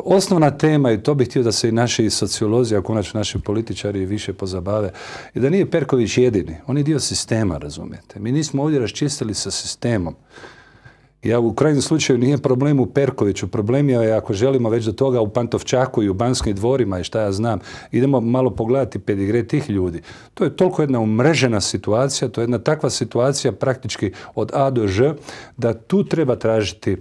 Speaker 6: Osnovna tema, i to bih htio da se i naši sociolozi, a konačno naši političari više pozabave, je da nije Perković jedini. On je dio sistema, razumijete. Mi nismo ovdje raščistili sa sistemom. Ja u krajnjem slučaju nije problem u Perkoviću, problem je ako želimo već do toga u Pantovčaku i u Banskim dvorima i šta ja znam, idemo malo pogledati pedigre tih ljudi. To je toliko jedna umrežena situacija, to je jedna takva situacija praktički od A do Ž, da tu treba tražiti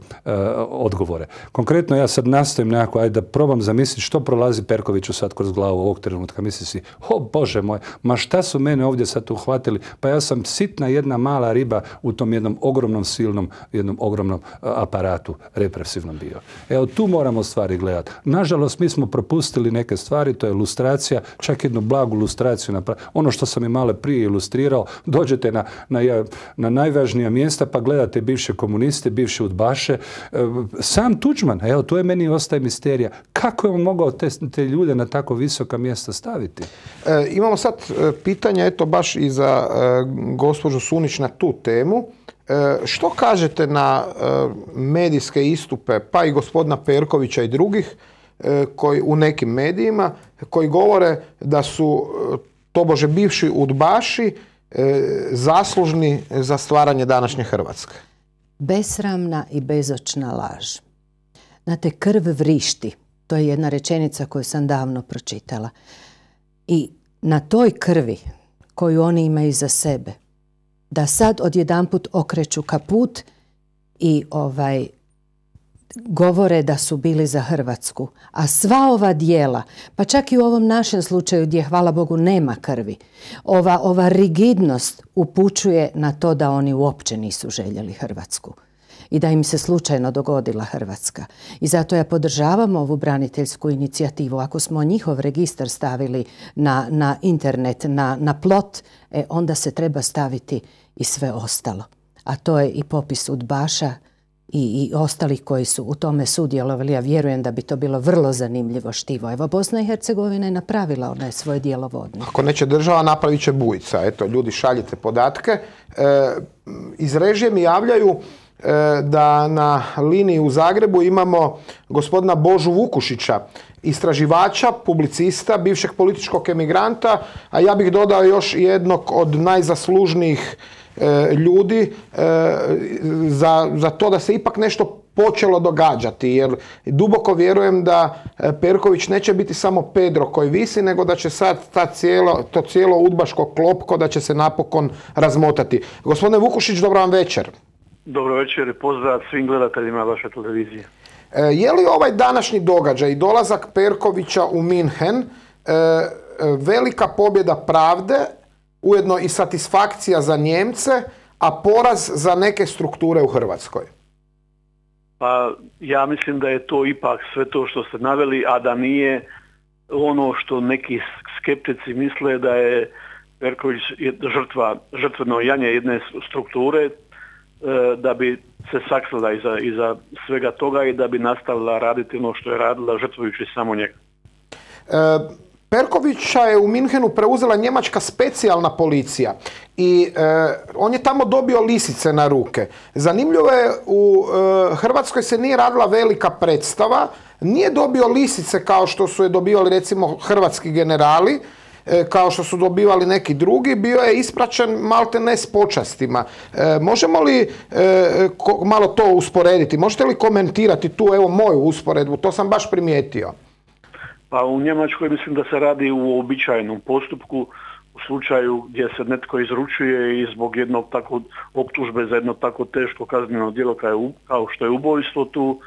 Speaker 6: odgovore. Konkretno ja sad nastojim nekako, ajde da probam zamisliti što prolazi Perkoviću sad kroz glavu ovog trenutka. Misli si, o Bože moj, ma šta su mene ovdje sad uhvatili? Pa ja sam sitna jedna mala riba u tom jednom ogromnom silnom, jednom ogromnom aparatu represivnom bio. Evo tu moramo stvari gledati. Nažalost, mi smo propustili neke stvari, to je ilustracija, čak jednu blagu ilustraciju. Ono što sam i malo prije ilustrirao, dođete na najvažnija mjesta pa gledate bivše komuniste, bivše udbaše. Sam Tuđman, evo tu je meni ostaje misterija. Kako je on mogao te ljude na tako visoka mjesta staviti?
Speaker 1: Imamo sad pitanja, eto baš i za gospođu Sunić na tu temu. Što kažete na medijske istupe, pa i gospodina Perkovića i drugih, koji u nekim medijima, koji govore da su tobože bivši udbaši zaslužni za stvaranje današnje Hrvatske?
Speaker 2: Besramna i bezočna laž. Znate, krv vrišti. To je jedna rečenica koju sam davno pročitala. I na toj krvi koju oni imaju za sebe, da sad odjedanput okreću kaput i govore da su bili za Hrvatsku. A sva ova djela, pa čak i u ovom našem slučaju gdje, hvala Bogu, nema krvi, ova rigidnost upućuje na to da oni uopće nisu željeli Hrvatsku i da im se slučajno dogodila Hrvatska. I zato ja podržavam ovu braniteljsku inicijativu. Ako smo njihov registar stavili na internet, na plot, onda se treba staviti i sve ostalo. A to je i popis udbaša i ostalih koji su u tome sudjelovali. Ja vjerujem da bi to bilo vrlo zanimljivo štivo. Evo, Bosna i Hercegovina je napravila onaj svoj djelovodnik.
Speaker 1: Ako neće država, napravit će Bujica. Eto, ljudi, šaljite podatke. Iz režije mi javljaju da na liniji u Zagrebu imamo gospodina Božu Vukušića, istraživača, publicista, bivšeg političkog emigranta, a ja bih dodao još jednog od najzaslužnijih ljudi za to da se ipak nešto počelo događati, jer duboko vjerujem da Perković neće biti samo Pedro koji visi, nego da će sad to cijelo udbaško klopko da će se napokon razmotati. Gospodine Vukušić, dobro vam večer.
Speaker 9: Dobro večer i pozdrav svim gledateljima vaše televizije.
Speaker 1: Je li ovaj današnji događaj, dolazak Perkovića u Minhen, velika pobjeda pravde, ujedno i satisfakcija za Njemce, a poraz za neke strukture u Hrvatskoj?
Speaker 9: Pa ja mislim da je to ipak sve to što ste naveli, a da nije ono što neki skeptici misle da je Perković žrtveno janje jedne strukture, da bi se sakrila iza svega toga i da bi nastavila raditi ono što je radila, žrtvujući samo njega.
Speaker 1: Perkovića je u Minhenu preuzela njemačka specijalna policija i on je tamo dobio lisice na ruke. Zanimljivo je, u Hrvatskoj se nije radila velika predstava, nije dobio lisice kao što su je dobivali recimo hrvatski generali, kao što su dobivali neki drugi, bio je ispraćen malte ne s počastima. Možemo li malo to usporediti? Možete li komentirati tu, evo, moju usporedbu? To sam baš primijetio.
Speaker 9: Pa u Njemačkoj mislim da se radi u uobičajenom postupku, u slučaju gdje se netko izručuje i zbog jednog tako optužbe za jedno tako teško kazneno djelo kao što je ubojstvo, tu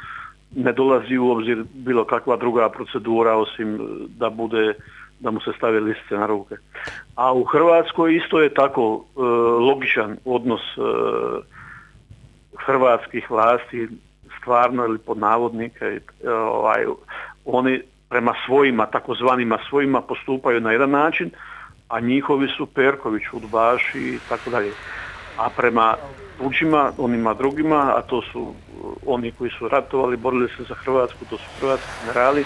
Speaker 9: ne dolazi u obzir bilo kakva druga procedura osim da mu se stave lisice na ruke. A u Hrvatskoj isto je tako logičan odnos hrvatskih vlasti, stvarno ili pod navodnike, oni prema svojima, takozvanima svojima, postupaju na jedan način, a njihovi su Perković, udbaši i tako dalje. A prema tuđima, onima drugima, a to su oni koji su ratovali, borili se za Hrvatsku, to su hrvatski generali,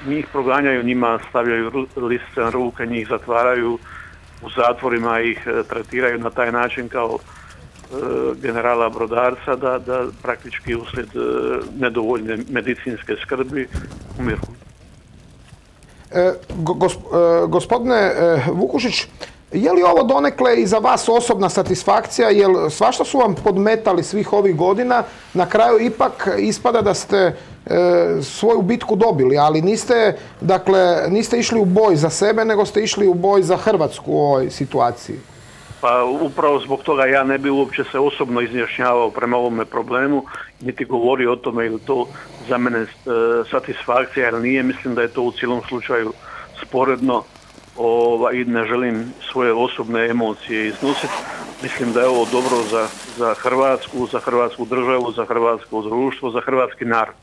Speaker 9: njih proganjaju, njima stavljaju lisice na ruke, njih zatvaraju u zatvorima, ih tretiraju na taj način kao generala Brodarca da praktički uslijed nedovoljne medicinske skrbi umiru.
Speaker 1: Gospodine Vukušić, je li ovo donekle i za vas osobna satisfakcija, jer svašta su vam podmetali svih ovih godina, na kraju ipak ispada da ste svoju bitku dobili, ali niste išli u boj za sebe, nego ste išli u boj za Hrvatsku u ovoj situaciji.
Speaker 9: Pa upravo zbog toga ja ne bi uopće se osobno izjašnjavao prema ovome problemu, niti govorio o tome ili to za mene satisfakcija, jer nije, mislim da je to u cijelom slučaju sporedno i ne želim svoje osobne emocije iznositi. Mislim da je ovo dobro za Hrvatsku, za Hrvatsku državu, za hrvatsko društvo, za hrvatski narod.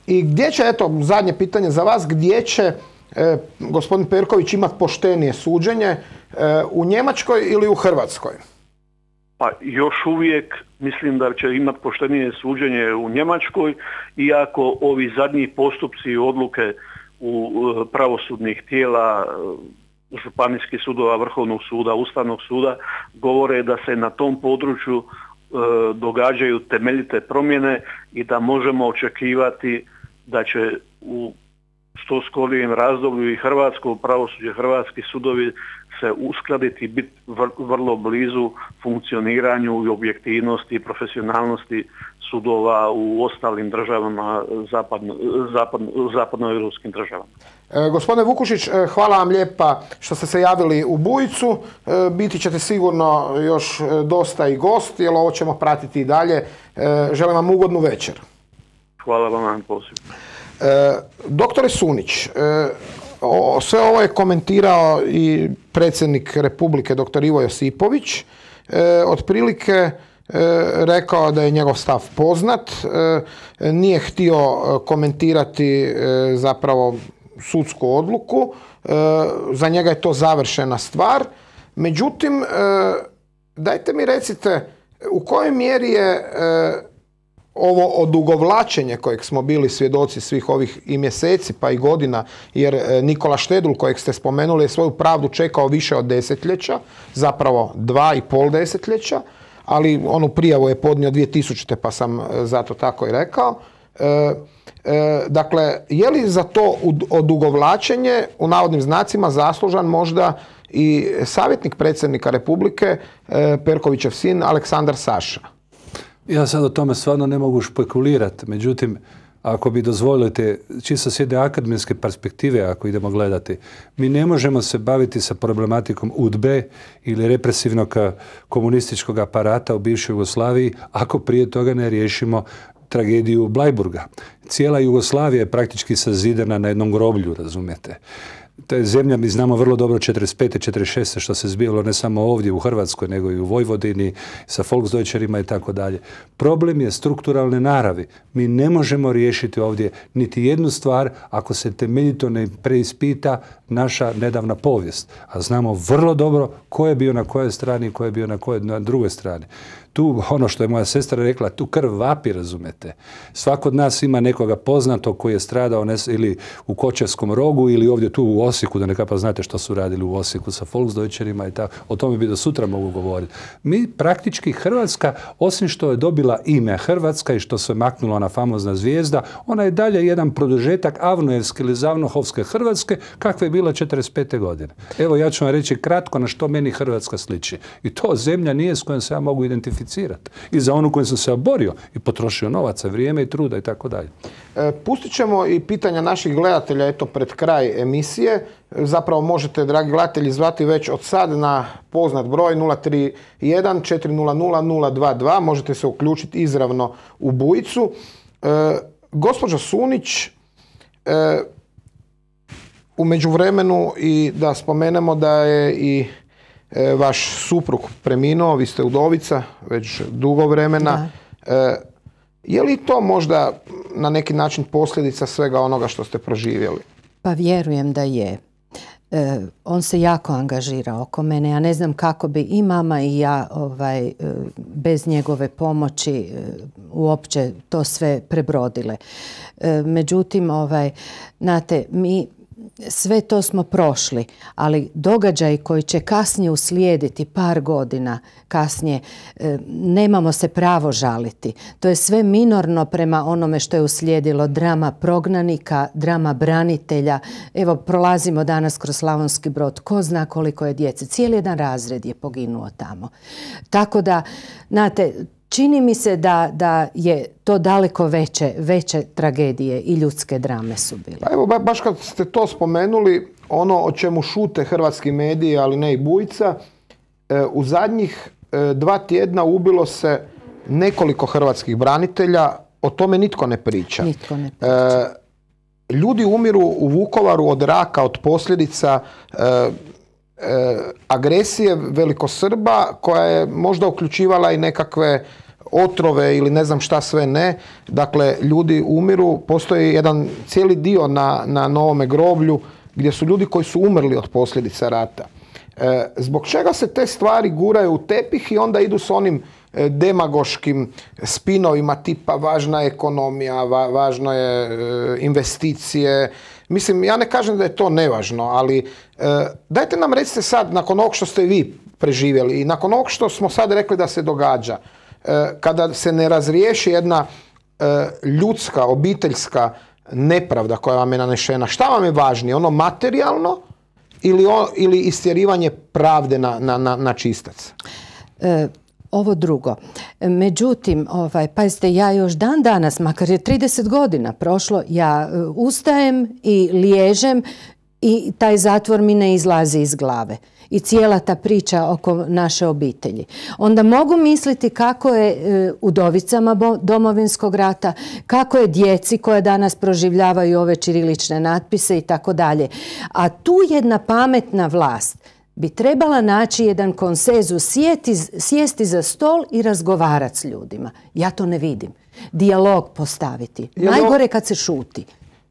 Speaker 1: I gdje će, eto, zadnje pitanje za vas, gdje će gospodin Perković imati poštenije suđenje, u Njemačkoj ili u Hrvatskoj?
Speaker 9: Pa još uvijek mislim da će imati poštenije suđenje u Njemačkoj, iako ovi zadnji postupci i odluke u pravosudnih tijela, županijskih sudova, Vrhovnog suda, Ustavnog suda govore da se na tom području događaju temeljite promjene i da možemo očekivati da će u što skorijem razdoblju i hrvatsko pravosuđe, hrvatski sudovi se uskladiti i biti vrlo blizu funkcioniranju i objektivnosti i profesionalnosti sudova u ostalim državama, zapadnoeuropskim državama.
Speaker 1: Gospodine Vukušić, hvala vam lijepa što ste se javili u Bujicu. Biti ćete sigurno još dosta i gost, jer ovo ćemo pratiti i dalje. Želim vam ugodnu večer.
Speaker 9: Hvala vam na pozivu.
Speaker 1: Doktore Sunić, sve ovo je komentirao i predsjednik Republike dr. Ivo Josipović. Otprilike rekao da je njegov stav poznat, nije htio komentirati zapravo sudsku odluku, za njega je to završena stvar. Međutim, dajte mi recite u kojoj mjeri je ovo odugovlačenje kojeg smo bili svjedoci svih ovih i mjeseci pa i godina, jer Nikola Štedl kojeg ste spomenuli je svoju pravdu čekao više od desetljeća, zapravo 2,5 desetljeća, ali onu prijavu je podnio 2000. pa sam zato tako i rekao. Dakle, je li za to odugovlačenje u navodnim znacima zaslužan možda i savjetnik predsjednika Republike, Perkovićev sin Aleksandar Saša?
Speaker 6: Ja sad o tome stvarno ne mogu špekulirati, međutim, ako bi dozvolite, čisto s jedne akademske perspektive, ako idemo gledati, mi ne možemo se baviti sa problematikom UDBE ili represivnog komunističkog aparata u bivšoj Jugoslaviji, ako prije toga ne riješimo tragediju Bleiburga. Cijela Jugoslavija je praktički sazidana na jednom groblju, razumijete. To je zemlja, mi znamo vrlo dobro 45. 46. što se zbivalo ne samo ovdje u Hrvatskoj, nego i u Vojvodini, sa Volksdeutcherima i tako dalje. Problem je strukturalne naravi. Mi ne možemo riješiti ovdje niti jednu stvar ako se temeljito ne preispita naša nedavna povijest. A znamo vrlo dobro ko je bio na kojoj strani i ko je bio na drugoj strani. Tu, ono što je moja sestra rekla, tu krv vapi, razumete. Svako od nas ima nekoga poznatog koji je stradao ili u Kočevskom rogu ili ovdje tu u Osijeku, da nekako znate što su radili u Osijeku sa Volksdeutcherima i tako. O tome bi do sutra mogu govoriti. Mi praktički Hrvatska, osim što je dobila ime Hrvatska i što se maknula ona famozna zvijezda, ona je dalje jedan produžetak Avnojevske ili Zavnohovske Hrvatske kakva je bila 45. godine. Evo ja ću vam reći kratko na što meni Hrvatska sliči. I to zemlja nije s kojom se ja mogu identificirati. I za onu koju sam se oborio i potrošio novaca, vrijeme i truda i tako dalje.
Speaker 1: Pustit ćemo i pitanja naših gledatelja eto pred kraj emisije. Zapravo možete, dragi gledatelji, zvati već od sad na poznat broj 031 400 022. Možete se uključiti izravno u Bujicu. Gospođo Sunić, u međuvremenu i da spomenemo da je i vaš suprug preminuo, vi ste udovica već dugo vremena. Je li to možda na neki način posljedica svega onoga što ste proživjeli?
Speaker 2: Pa vjerujem da je. On se jako angažira oko mene. Ja ne znam kako bi i mama i ja bez njegove pomoći uopće to sve prebrodile. Međutim, znate, mi sve to smo prošli, ali događaji koji će kasnije uslijediti par godina kasnije, nemamo se pravo žaliti. To je sve minorno prema onome što je uslijedilo, drama prognanika, drama branitelja. Evo, prolazimo danas kroz Slavonski Brod, ko zna koliko je djece. Cijeli jedan razred je poginuo tamo. Tako da, znate, čini mi se da je to daleko veće tragedije i ljudske drame su bile.
Speaker 1: Pa evo, baš kad ste to spomenuli, ono o čemu šute hrvatski mediji, ali ne i Bujica, u zadnjih 2 tjedna ubilo se nekoliko hrvatskih branitelja, o tome nitko ne priča. Ljudi umiru u Vukovaru od raka, od posljedica agresije velikosrba koja je možda uključivala i nekakve otrove ili ne znam šta sve ne. Dakle, ljudi umiru, postoji jedan cijeli dio na Novome groblju gdje su ljudi koji su umrli od posljedica rata. Zbog čega se te stvari guraju u tepih i onda idu s onim demagoškim spinovima tipa važna je ekonomija, važno je investicije. Mislim, ja ne kažem da je to nevažno, ali dajte nam recite sad, nakon ovog što ste vi preživjeli i nakon ovog što smo sad rekli da se događa, kada se ne razriješi jedna ljudska, obiteljska nepravda koja vam je nanešena, šta vam je važnije, ono materijalno ili istjerivanje pravde na čistac?
Speaker 2: Ovo drugo. Međutim, pazite, ja još dan danas, makar je 30 godina prošlo, ja ustajem i liježem i taj zatvor mi ne izlazi iz glave. I cijela ta priča oko naše obitelji. Onda mogu misliti kako je udovicama Domovinskog rata, kako je djeci koje danas proživljavaju ove ćirilične natpise i tako dalje. A tu jedna pametna vlast bi trebala naći jedan konsenzus, sjesti za stol i razgovarati s ljudima. Ja to ne vidim. Dijalog postaviti. Najgore kad se šuti.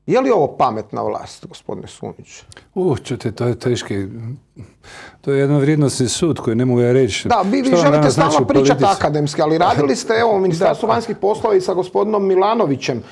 Speaker 1: Je li ovo pametna vlast, gospodine Sunić?
Speaker 6: Čujte, to je teški. To je jedan vrijednosni sud koji ne mogu ja reći.
Speaker 1: Da, vi želite stalno pričati akademski, ali radili ste u Ministarstvu vanjskih poslova i sa gospodinom Milanovićem.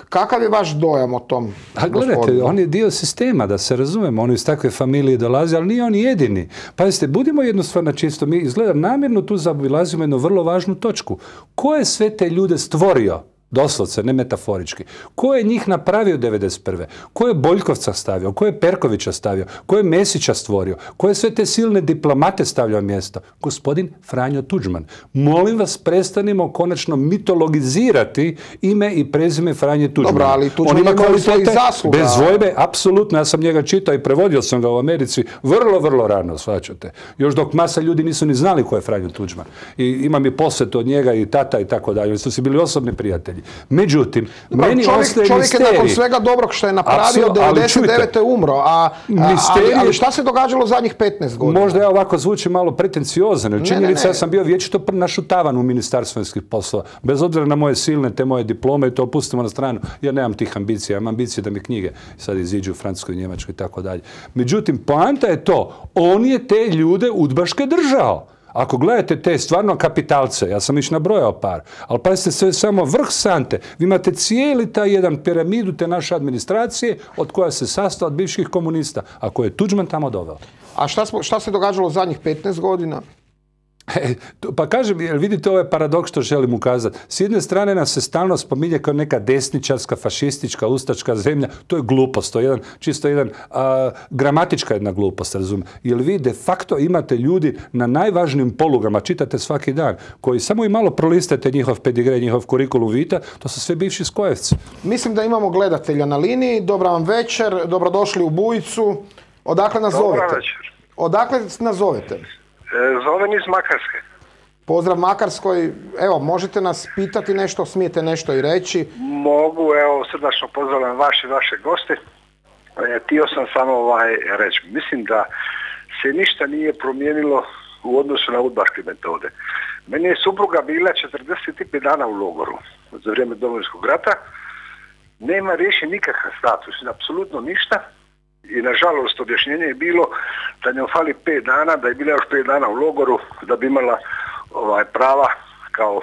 Speaker 1: Kakav je vaš dojam o tom gospodinu?
Speaker 6: Gledajte, on je dio sistema, da se razumemo. On iz takve familije dolazi, ali nije on jedini. Pazite, budimo jednostavno čisto. Mi izgleda namjerno tu zaobilazimo jednu vrlo važnu točku. Ko je sve te ljude stvorio? Doslovce, ne metaforički. Ko je njih napravio 1991. Ko je Boljkovca stavio? Ko je Perkovića stavio? Ko je Mesića stvorio? Ko je sve te silne diplomate stavljao mjesto? Gospodin Franjo Tuđman. Molim vas, prestanimo konačno mitologizirati ime i prezime Franje Tuđmana.
Speaker 1: Dobro, ali Tuđman ima svojih zasluga.
Speaker 6: Bez dvojbe, apsolutno. Ja sam njega čitao i prevodio sam ga u Americi vrlo, vrlo rano, shvaćate. Još dok masa ljudi nisu ni znali ko je Franjo Tuđman. I imam i posvetu od njega i tata i tako dalje. Oni su si bili osobni prijatelji. Međutim, meni ostaje
Speaker 1: čovjek je nakon svega dobrog što je napravio, 99. umro, ali šta se događalo zadnjih 15 godina?
Speaker 6: Možda ja ovako zvučim malo pretenciozan. Činjenica, ja sam bio vječito našutavan u Ministarstvu vanjskih poslova. Bez obzira na moje silne, te moje diplome, i to pustimo na stranu. Ja nemam tih ambicija, imam ambicije da mi knjige sad iziđu u Francuskoj, Njemačkoj i tako dalje. Međutim, poanta je to, on je te ljude udbaške držao. Ako gledate te stvarno kapitalce, ja sam već nabrojao par, ali pazite, sve samo vrh sante. Vi imate cijeli taj jedan piramidu te naše administracije od koja se sastoji od bivših komunista, a koje je Tuđman tamo doveo.
Speaker 1: A šta se događalo zadnjih 15 godina?
Speaker 6: Pa kažem, vidite ovaj paradoks što želim ukazati. S jedne strane nas se stalno spominje kao neka desničarska, fašistička, ustačka zemlja. To je glupost, to je čisto jedan gramatička jedna glupost, razumijem. Jer vi de facto imate ljudi na najvažnijim polugama, čitate svaki dan, koji samo i malo prolistate njihov pedigre, njihov kurikulum vita, to su sve bivši skojevci.
Speaker 1: Mislim da imamo gledatelja na liniji. Dobra vam večer, dobrodošli u Bujicu. Odakle nas zovete?
Speaker 10: Dobra večer.
Speaker 1: Odakle nas zovete?
Speaker 10: Zovem iz Makarske.
Speaker 1: Pozdrav Makarskoj. Evo, možete nas pitati nešto, smijete nešto i reći?
Speaker 10: Mogu, evo, srdačno pozdravljam vaše goste. Htio sam samo reći. Mislim da se ništa nije promijenilo u odnosu na udbaške metode. Meni je supruga bila 45 dana u logoru za vrijeme Domovinskog rata. Nema riješen nikakav status, apsolutno ništa. I nažalost objašnjenje je bilo da njom fali 5 dana, da je bila još 5 dana u logoru, da bi imala prava kao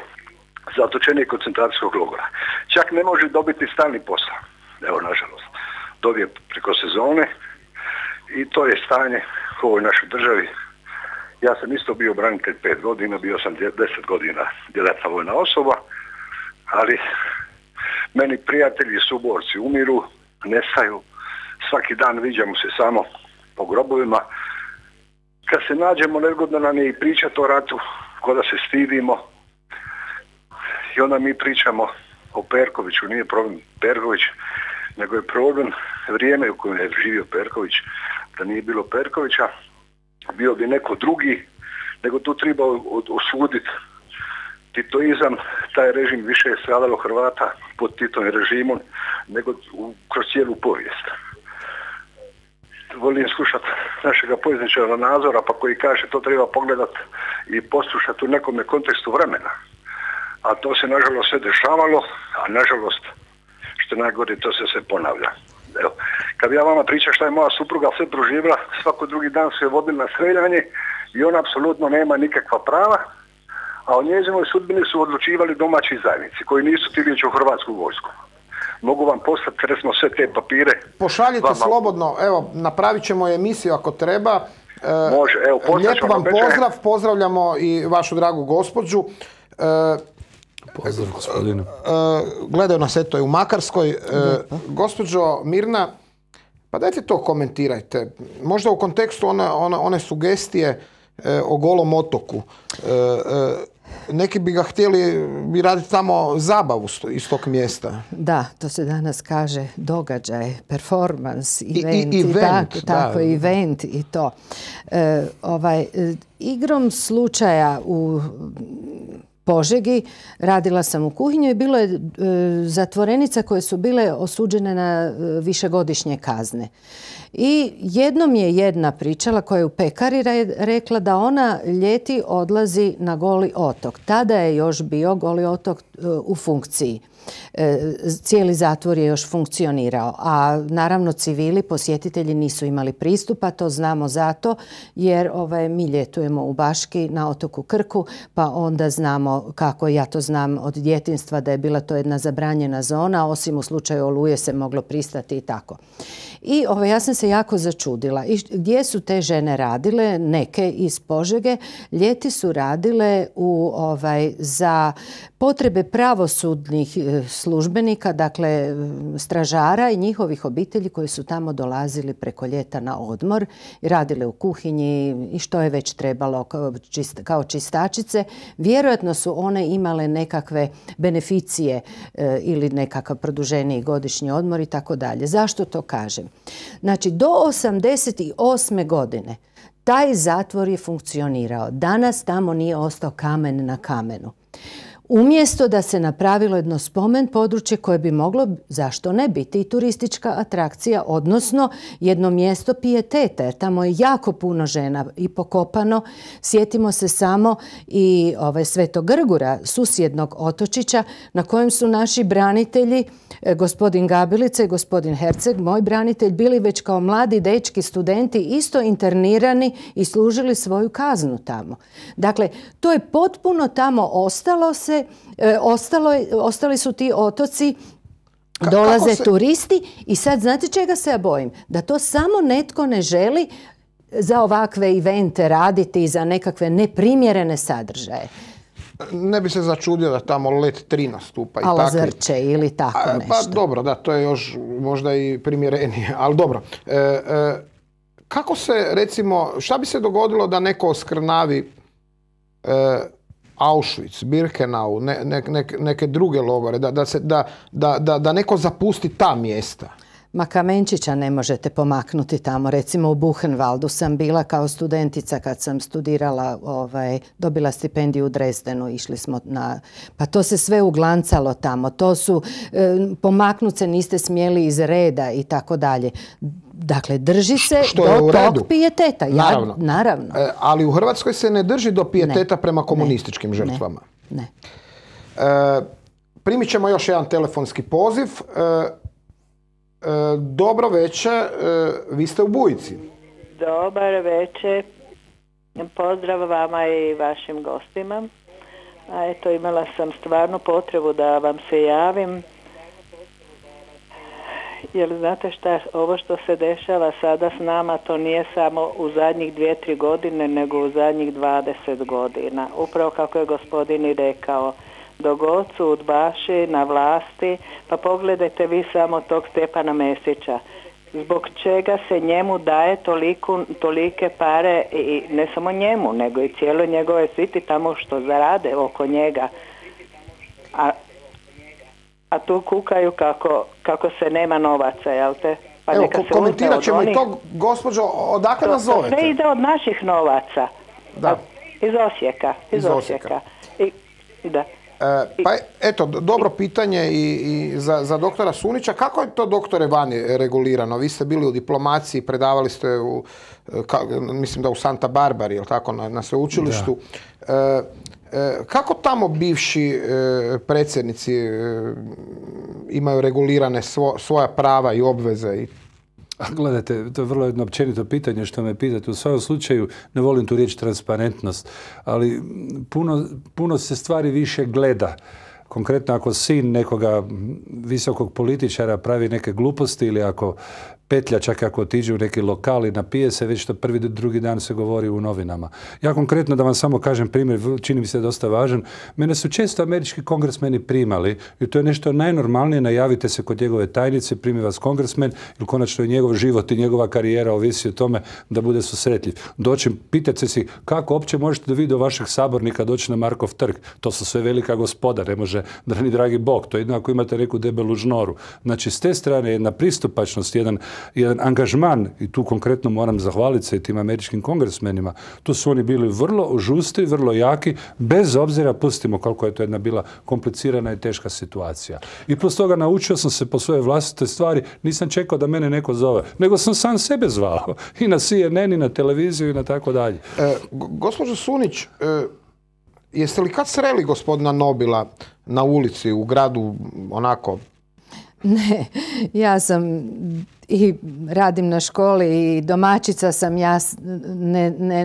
Speaker 10: zatočenik koncentracijskog logora. Čak ne može dobiti stalni posao. Evo, nažalost. Dobije preko sezone i to je stanje u ovoj našoj državi. Ja sam isto bio branitelj 5 godina, bio sam 10 godina djelatna vojna osoba, ali meni prijatelji i suborci umiru, nestaju, svaki dan viđamo se samo po grobovima. Kad se nađemo, nezgodno nam je i pričati o ratu, ko da se stidimo. I onda mi pričamo o Perkoviću, nije problem Perković, nego je problem vrijeme u kojem je živio Perković. Da nije bilo Perkovića, bio bi neko drugi, nego tu treba osuditi titoizam. Taj režim više je stradalo Hrvata pod Titovim režimom nego kroz cijelu povijest. Volim slušati našega povjesničara Nazora, pa koji kaže to treba pogledati i poslušati u nekome kontekstu vremena. A to se nažalost sve dešavalo, a nažalost što je najgore, to se sve ponavlja. Evo, kad ja vama pričam šta je moja supruga sve proživjela, svako drugi dan se je vodila na streljanje i ona apsolutno nema nikakva prava, a o njezinoj sudbini su odlučivali domaći zajednici koji nisu htjeli ići u Hrvatsku vojsku. Mogu vam poslati recimo sve te papire.
Speaker 1: Pošaljite slobodno, evo, napravit ćemo emisiju ako treba.
Speaker 10: Može, evo,
Speaker 1: lijep vam pozdrav, pozdravljamo i vašu dragu gospođu.
Speaker 6: Pozdrav, gospodine.
Speaker 1: Gledaju nas eto i u Makarskoj. Gospođo Mirna, pa dajte to komentirajte. Možda u kontekstu one sugestije o Golom otoku. Neki bi ga htjeli bi raditi tamo zabavu iz tog mjesta.
Speaker 2: Da, to se danas kaže događaj, performans, event,
Speaker 1: tako,
Speaker 2: event i to. Igrom slučaja u Požegi radila sam u kuhinju i bilo je zatvorenica koje su bile osuđene na višegodišnje kazne. I jednom je jedna pričala koja je u pekari rekla da ona ljeti odlazi na Goli otok. Tada je još bio Goli otok u funkciji. Cijeli zatvor je još funkcionirao, a naravno civili, posjetitelji nisu imali pristupa, to znamo zato jer mi ljetujemo u Baški na otoku Krku, pa onda znamo kako, ja to znam od djetinjstva da je bila to jedna zabranjena zona, osim u slučaju oluje se moglo pristati i tako. I ja sam se jako začudila. I gdje su te žene radile? Neke iz Požege. Ljeti su radile za potrebe pravosudnih službenika, dakle stražara i njihovih obitelji koji su tamo dolazili preko ljeta na odmor i radile u kuhinji i što je već trebalo kao čistačice. Vjerojatno su one imale nekakve beneficije ili nekakav produženiji godišnji odmor i tako dalje. Zašto to kažem? Znači, do 1988. godine taj zatvor je funkcionirao. Danas tamo nije ostao kamen na kamenu. Umjesto da se napravilo jedno spomen područje koje bi moglo, zašto ne, biti i turistička atrakcija, odnosno jedno mjesto pijeteta, jer tamo je jako puno žena i pokopano. Sjetimo se samo i Svetog Grgura, susjednog otočića, na kojem su naši branitelji, gospodin Gabilica i gospodin Herceg, moj branitelj, bili već kao mladi dečki, studenti, isto internirani i služili svoju kaznu tamo. Dakle, to je potpuno tamo ostalo se. Ostali su ti otoci, dolaze turisti i sad znate čega se ja bojim? Da to samo netko ne želi za ovakve evente raditi i za nekakve neprimjerene sadržaje.
Speaker 1: Ne bi se začudio da tamo Let 3 nastupa i tako.
Speaker 2: Ala Zrče ili tako nešto.
Speaker 1: Pa dobro, da, to je još možda i primjerenije, ali dobro. Kako se, recimo, šta bi se dogodilo da neko oskrnavi Auschwitz, Birkenau, neke druge logore, da neko zapusti ta mjesta?
Speaker 2: Ma kamenčića ne možete pomaknuti tamo. Recimo u Buchenwaldu sam bila kao studentica kad sam studirala, dobila stipendiju u Dresdenu, išli smo pa to se sve uglancalo tamo. To su, pomaknut se niste smjeli iz reda i tako dalje. Dakle, drži se do tog pijeteta. Naravno.
Speaker 1: Ali u Hrvatskoj se ne drži do pijeteta prema komunističkim žrtvama.
Speaker 2: Ne.
Speaker 1: Primit ćemo još jedan telefonski poziv. Dobro večer, vi ste u Bujici.
Speaker 11: Dobar večer, pozdrav vama i vašim gostima. A eto, imala sam stvarno potrebu da vam se javim. Jer znate šta, ovo što se dešava sada s nama, to nije samo u zadnjih 2-3 godine, nego u zadnjih 20 godina. Upravo kako je gospodin i rekao, dok god su udbaši na vlasti, pa pogledajte vi samo tog Stjepana Mesića. Zbog čega se njemu daje tolike pare, i ne samo njemu, nego i cijelo njegove sviti tamo što zarade oko njega. A tu kukaju kako se nema novaca, jel te? Pa
Speaker 1: evo,
Speaker 11: neka se
Speaker 1: komentirat ćemo i to, gospođo, odakle nas zovete?
Speaker 11: To sve ide od naših novaca.
Speaker 1: Da.
Speaker 11: Iz Osijeka. Da.
Speaker 1: Pa eto, dobro pitanje i za doktora Sunića. Kako je to, doktore, vani regulirano? Vi ste bili u diplomaciji, predavali ste mislim da u Santa Barbari, jel tako, na sveučilištu. Kako tamo bivši predsjednici imaju regulirane svoja prava i obveze?
Speaker 6: Gledajte, to je vrlo jedno općenito pitanje što me pitate. U svakom slučaju, ne volim tu riječ transparentnost, ali puno se stvari više gleda. Konkretno, ako sin nekoga visokog političara pravi neke gluposti ili ako petlja, čak ako otiđe u neki lokal i napije se, već to prvi, drugi dan se govori u novinama. Ja konkretno, da vam samo kažem primjer, čini mi se dosta važan, mene su često američki kongresmeni primali i to je nešto najnormalnije, najavite se kod njegove tajnice, primi vas kongresmen ili konačno je njegov život i njegova karijera ovisi o tome da bude susretljiv. Doći, pitate si kako uopće možete da vi do vašeg sabornika doći na Markov trg. To su sve velika gospoda, ne može ni dragi Bog. To je jedno ako imate neku debelu žnoru. Znači, s te strane jedna pristupačnost, jedan angažman, i tu konkretno moram zahvaliti se i tim američkim kongresmenima, tu su oni bili vrlo žustri, vrlo jaki, bez obzira, pustimo koliko je to jedna bila komplicirana i teška situacija. I plus toga naučio sam se po svoje vlastite stvari, nisam čekao da mene neko zove, nego sam sam sebe zvao. I na CNN, i na televiziju, i na tako dalje.
Speaker 1: Gospođo Sunić, jeste li kad sreli gospodina Nobila na ulici, u gradu, onako?
Speaker 2: Ne, ja sam i radim na školi i domaćica sam, ja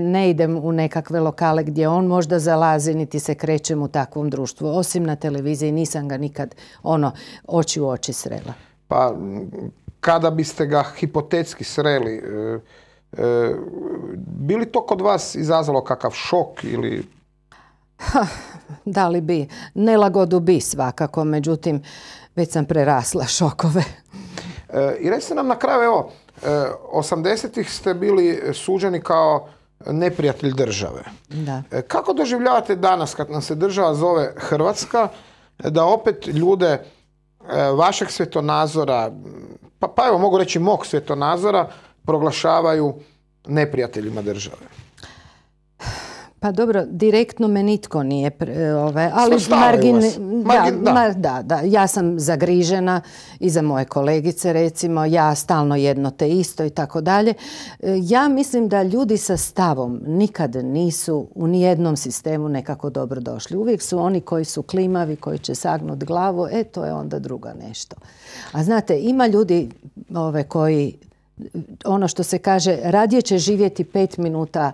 Speaker 2: ne idem u nekakve lokale gdje on možda zalazi, niti se krećem u takvom društvu. Osim na televiziji nisam ga nikad oči u oči srela.
Speaker 1: Pa kada biste ga hipotetski sreli, bi li to kod vas izazvalo kakav šok ili...
Speaker 2: Da li bi? Nelagodu bi svakako, međutim, već sam prerasla šokove.
Speaker 1: I recite nam na kraju, evo, 80-ih ste bili suđeni kao neprijatelj države.
Speaker 2: Da.
Speaker 1: Kako doživljavate danas kad nam se država zove Hrvatska, da opet ljude vašeg svjetonazora, pa evo mogu reći mog svjetonazora, proglašavaju neprijateljima države?
Speaker 2: Pa dobro, direktno me nitko nije, ali da, ja sam zagrižena i za moje kolegice, recimo, ja stalno jedno te isto i tako dalje. Ja mislim da ljudi sa stavom nikad nisu u nijednom sistemu nekako dobro došli. Uvijek su oni koji su klimavi, koji će sagnuti glavu, to je onda druga nešto. A znate, ima ljudi koji, ono što se kaže, radije će živjeti 5 minuta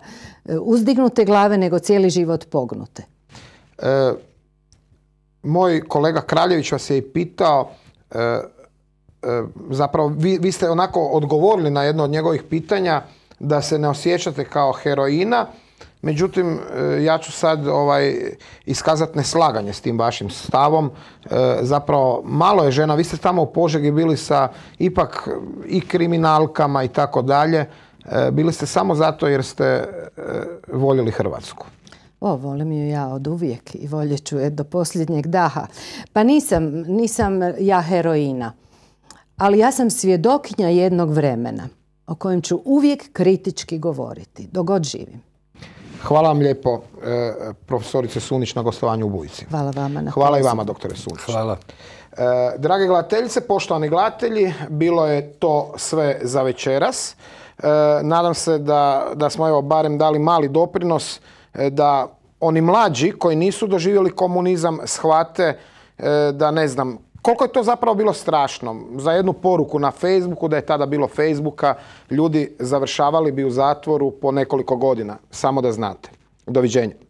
Speaker 2: uzdignute glave nego cijeli život pognute.
Speaker 1: Moj kolega Kraljević vas je i pitao, zapravo vi ste onako odgovorili na jedno od njegovih pitanja da se ne osjećate kao heroina, međutim ja ću sad iskazati neslaganje s tim vašim stavom. Zapravo malo je žena, vi ste tamo u Požegi bili sa ipak i kriminalkama i tako dalje. Bili ste samo zato jer ste voljeli Hrvatsku.
Speaker 2: Volim ju ja od uvijek i voljet ću je do posljednjeg daha. Pa nisam ja heroina, ali ja sam svjedokinja jednog vremena o kojem ću uvijek kritički govoriti, dok god živim.
Speaker 1: Hvala vam lijepo, profesorice Sunić, na gostovanju u Bujici.
Speaker 2: Hvala vama na
Speaker 1: Hvala i vama, doktore Sunić.
Speaker 6: Hvala.
Speaker 1: Drage gledateljice, poštovani gledatelji, bilo je to sve za večeras. Nadam se da smo barem dali mali doprinos da oni mlađi koji nisu doživjeli komunizam shvate da, ne znam, Koliko je to zapravo bilo strašno? Za jednu poruku na Facebooku, da je tada bilo Facebooka, ljudi završavali bi u zatvoru po nekoliko godina. Samo da znate. Doviđenja.